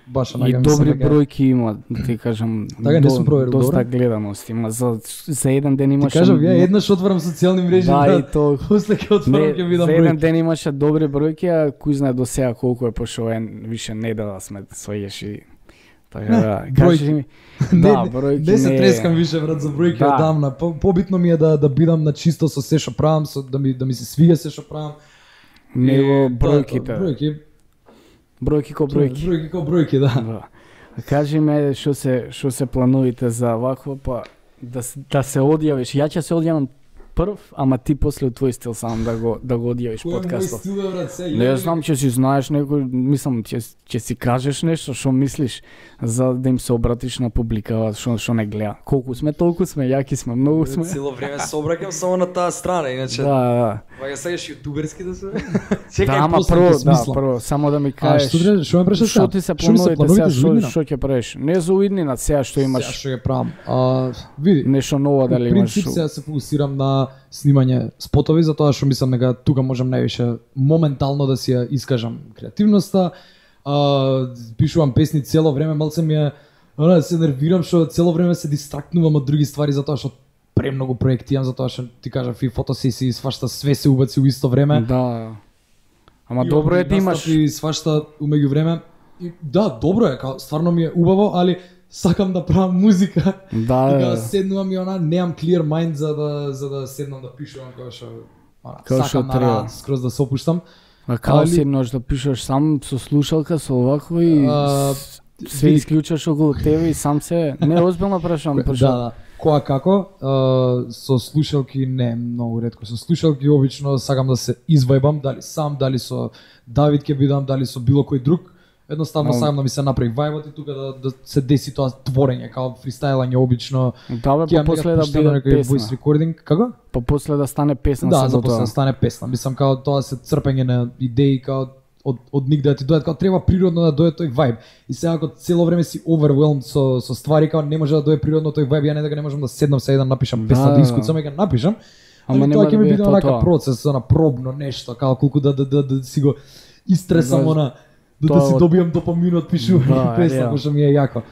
баш И онака мислам добри дека- бројки има, да ти кажам. Така, не сум проверил, доста добро. гледаност има. За, за еден ден Ти имаше... кажав ја еднаш отварам социјални мрежи Да, брат. и то... После ќе отворам Не, ќе видам за еден број. ден имаше добри бројки, а кој знае до сега колку е, пошто е више недела сме својеш и... Така да, кажи ми... Да, бројки не се не е- трескам више брат за бројки Да. одамна. По, побитно ми е да да бидам на чисто со се што правам, со да ми да ми се свига се што правам. Него И, бројките. Да, бројки. Бројки ко бројки. Бројки ко бројки, да. Да. А кажи ме што се што се планувате за вакво, па да се- да се одјавиш. Ја ќе се одјавам прв, ама ти после од твој стил сам да го да го одјавиш Кој е мој подкастот. стил бе, брат, се? Не знам, че си знаеш некој, мислам, ќе ќе си кажеш нешто што мислиш за да им се обратиш на публика, што што не гледа. Колку сме, толку сме, јаки сме, многу сме. Цело време се обраќам само на таа страна, иначе. Да, да. Па ја сакаш јутуберски да се? Да, ама после прво, ќе да, смислам. прво, само да ми А кажеш. што треба, што ме прашаш Што сега? ти се Што ми се плановите сега, за што иднина? што ќе правиш? Не за уиднина, сега што Сега имаш што ќе правам? А, види, нешто ново дали Во имаш. принцип сега се фокусирам на снимање спотови затоа што мислам дека тука можам највише моментално да си ја искажам креативноста. А, пишувам песни цело време, малце ми е она се нервирам што цело време се дистрактнувам од други ствари затоа што премногу проекти имам, затоа што ти кажав и фотосесии, свашта све се убаци у исто време. Да. Ама Имам добро е и да имаш. настапи, свашта умеѓу време. И да, добро е, као стварно ми е убаво, али сакам да правам музика. Да, И да, као да. седнувам и она немам clear mind за да за да седнам да пишувам како што она, Како што сакам на треба. рад, скроз да се опуштам. А као Али- седнеш да пишеш сам со слушалка, со овакво и А, с- се види- исклучаш околу тебе и сам се... Не, озбилно прашам, Да, пошто... да. Која како? А, со слушалки не многу ретко. Со слушалки обично сакам да се извајбам, дали сам, дали со Давид ќе бидам, дали со било кој друг. Едноставно Но- сакам да ми се направи вајбот и тука да, да се деси тоа творење, као фристайлање обично. Да, бе, Ќе па после да биде некој песна. voice recording, како? Па после да стане песна Да, само за после тоа. да стане песна. Мислам као тоа се црпење на идеи као од од нигде да ти дојдат, као треба природно да дојде тој вајб. И сега ако цело време си overwhelmed со со ствари, као не може да дојде природно тој вајб, ја не дека не можам да седнам сега и да напишам песна, Да, да да. искуцам и ќе напишам. Ама Ама нема тоа да ќе ми биде биде тоа онака тоа. процес, она пробно нешто, као колку да да да, да си го истресам Да, она да, тоа да си од- добијам допамин од пишување Да, песна, реално. кој што ми е јако.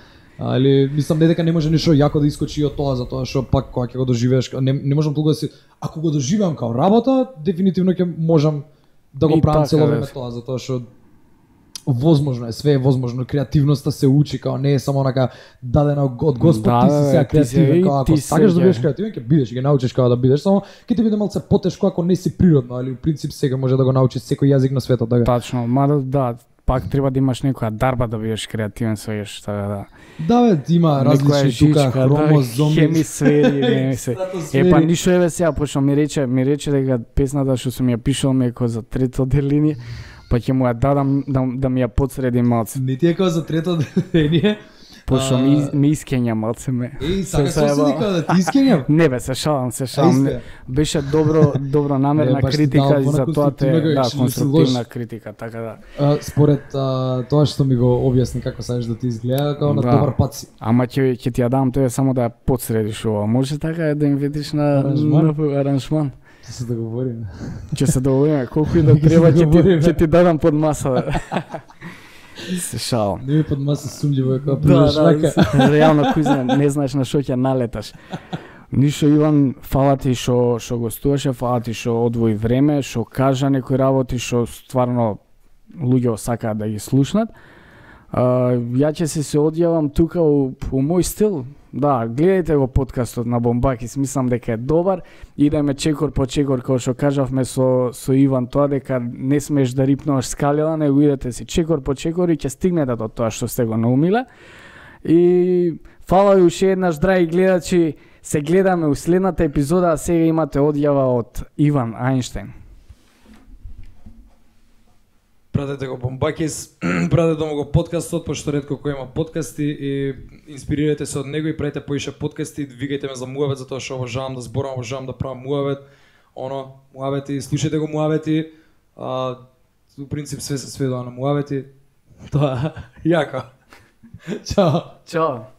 Али мислам не дека не може ништо јако да искочи од тоа, затоа што пак кога ќе го доживееш, не, не можам толку да си, ако го доживеам као работа, дефинитивно ќе можам да го И правам така, цело време да. тоа, затоа што возможно е, све е возможно, креативноста се учи, као не е само онака дадена од Господ, Да, ти си сега ти си- креативен, и као ти ако се сакаш да ќе- бидеш креативен, ќе бидеш, ќе научиш како да бидеш, само ќе ти биде малце потешко ако не си природно, али у принцип сега може да го научиш секој јазик на светот, така. Тачно, мада да, пак треба да имаш некоја дарба да бидеш креативен со еш, така да. Да бе, има Некоја различни тука жичка, хромозоми. да, хемисфери, не се. стратосфери. Е па ништо еве сега, пошто ми рече, ми рече дека песната што сум ја пишал ми е кој за трето деление, па ќе му ја дадам да, да ми ја подсреди малце. Не ти е како за трето деление. Пошто А, ми, ми искења малце ме. Еј, се сакаш заебав. соседи како да ти искењам? Не бе, се шалам, се шалам. Ајсте. Не, беше добро, добро намерна Не, баш ти критика дал и она за тоа те, конструктивна, да, ќе не си конструктивна лош. критика, така да. А, според а, тоа што ми го објасни како сакаш да ти изгледа, како на Да. добар пат си. Ама ќе ќе ти ја дам тоа само да ја подсредиш ова. Може така да им видиш на Аранжман? на аранжман. Ќе се договориме. Ќе се договориме колку и да Ќе се треба ќе ти договориме. ќе ти дадам под маса. Се шалам. Не ми под маса сумњиво е како Да, прилеш да, рака. реално кој знае, не знаеш на што ќе налеташ. Ништо Иван, фала ти што што гостуваше, фала ти што одвои време, што кажа некои работи што стварно луѓе сакаат да ги слушнат. А, ја ќе се се одјавам тука у, у мој стил. Да, гледајте го подкастот на Бомбакис, мислам дека е добар. Идеме чекор по чекор, како што кажавме со со Иван тоа дека не смеш да рипнуваш скалила, него идете си чекор по чекор и ќе стигнете до тоа што сте го наумиле. И фала ви уште еднаш, драги гледачи, се гледаме у следната епизода, а сега имате одјава од Иван Ајнштејн. Пратете го Бомбакис, пратете му го подкастот, пошто ретко кој има подкасти и инспирирате се од него и правите поише подкасти, викајте ме за муавет затоа што обожавам да зборам, обожавам да правам муавет, оно, муавети, слушајте го муавети, а, у принцип све се сведува на муавети, тоа, јако. Чао. Чао.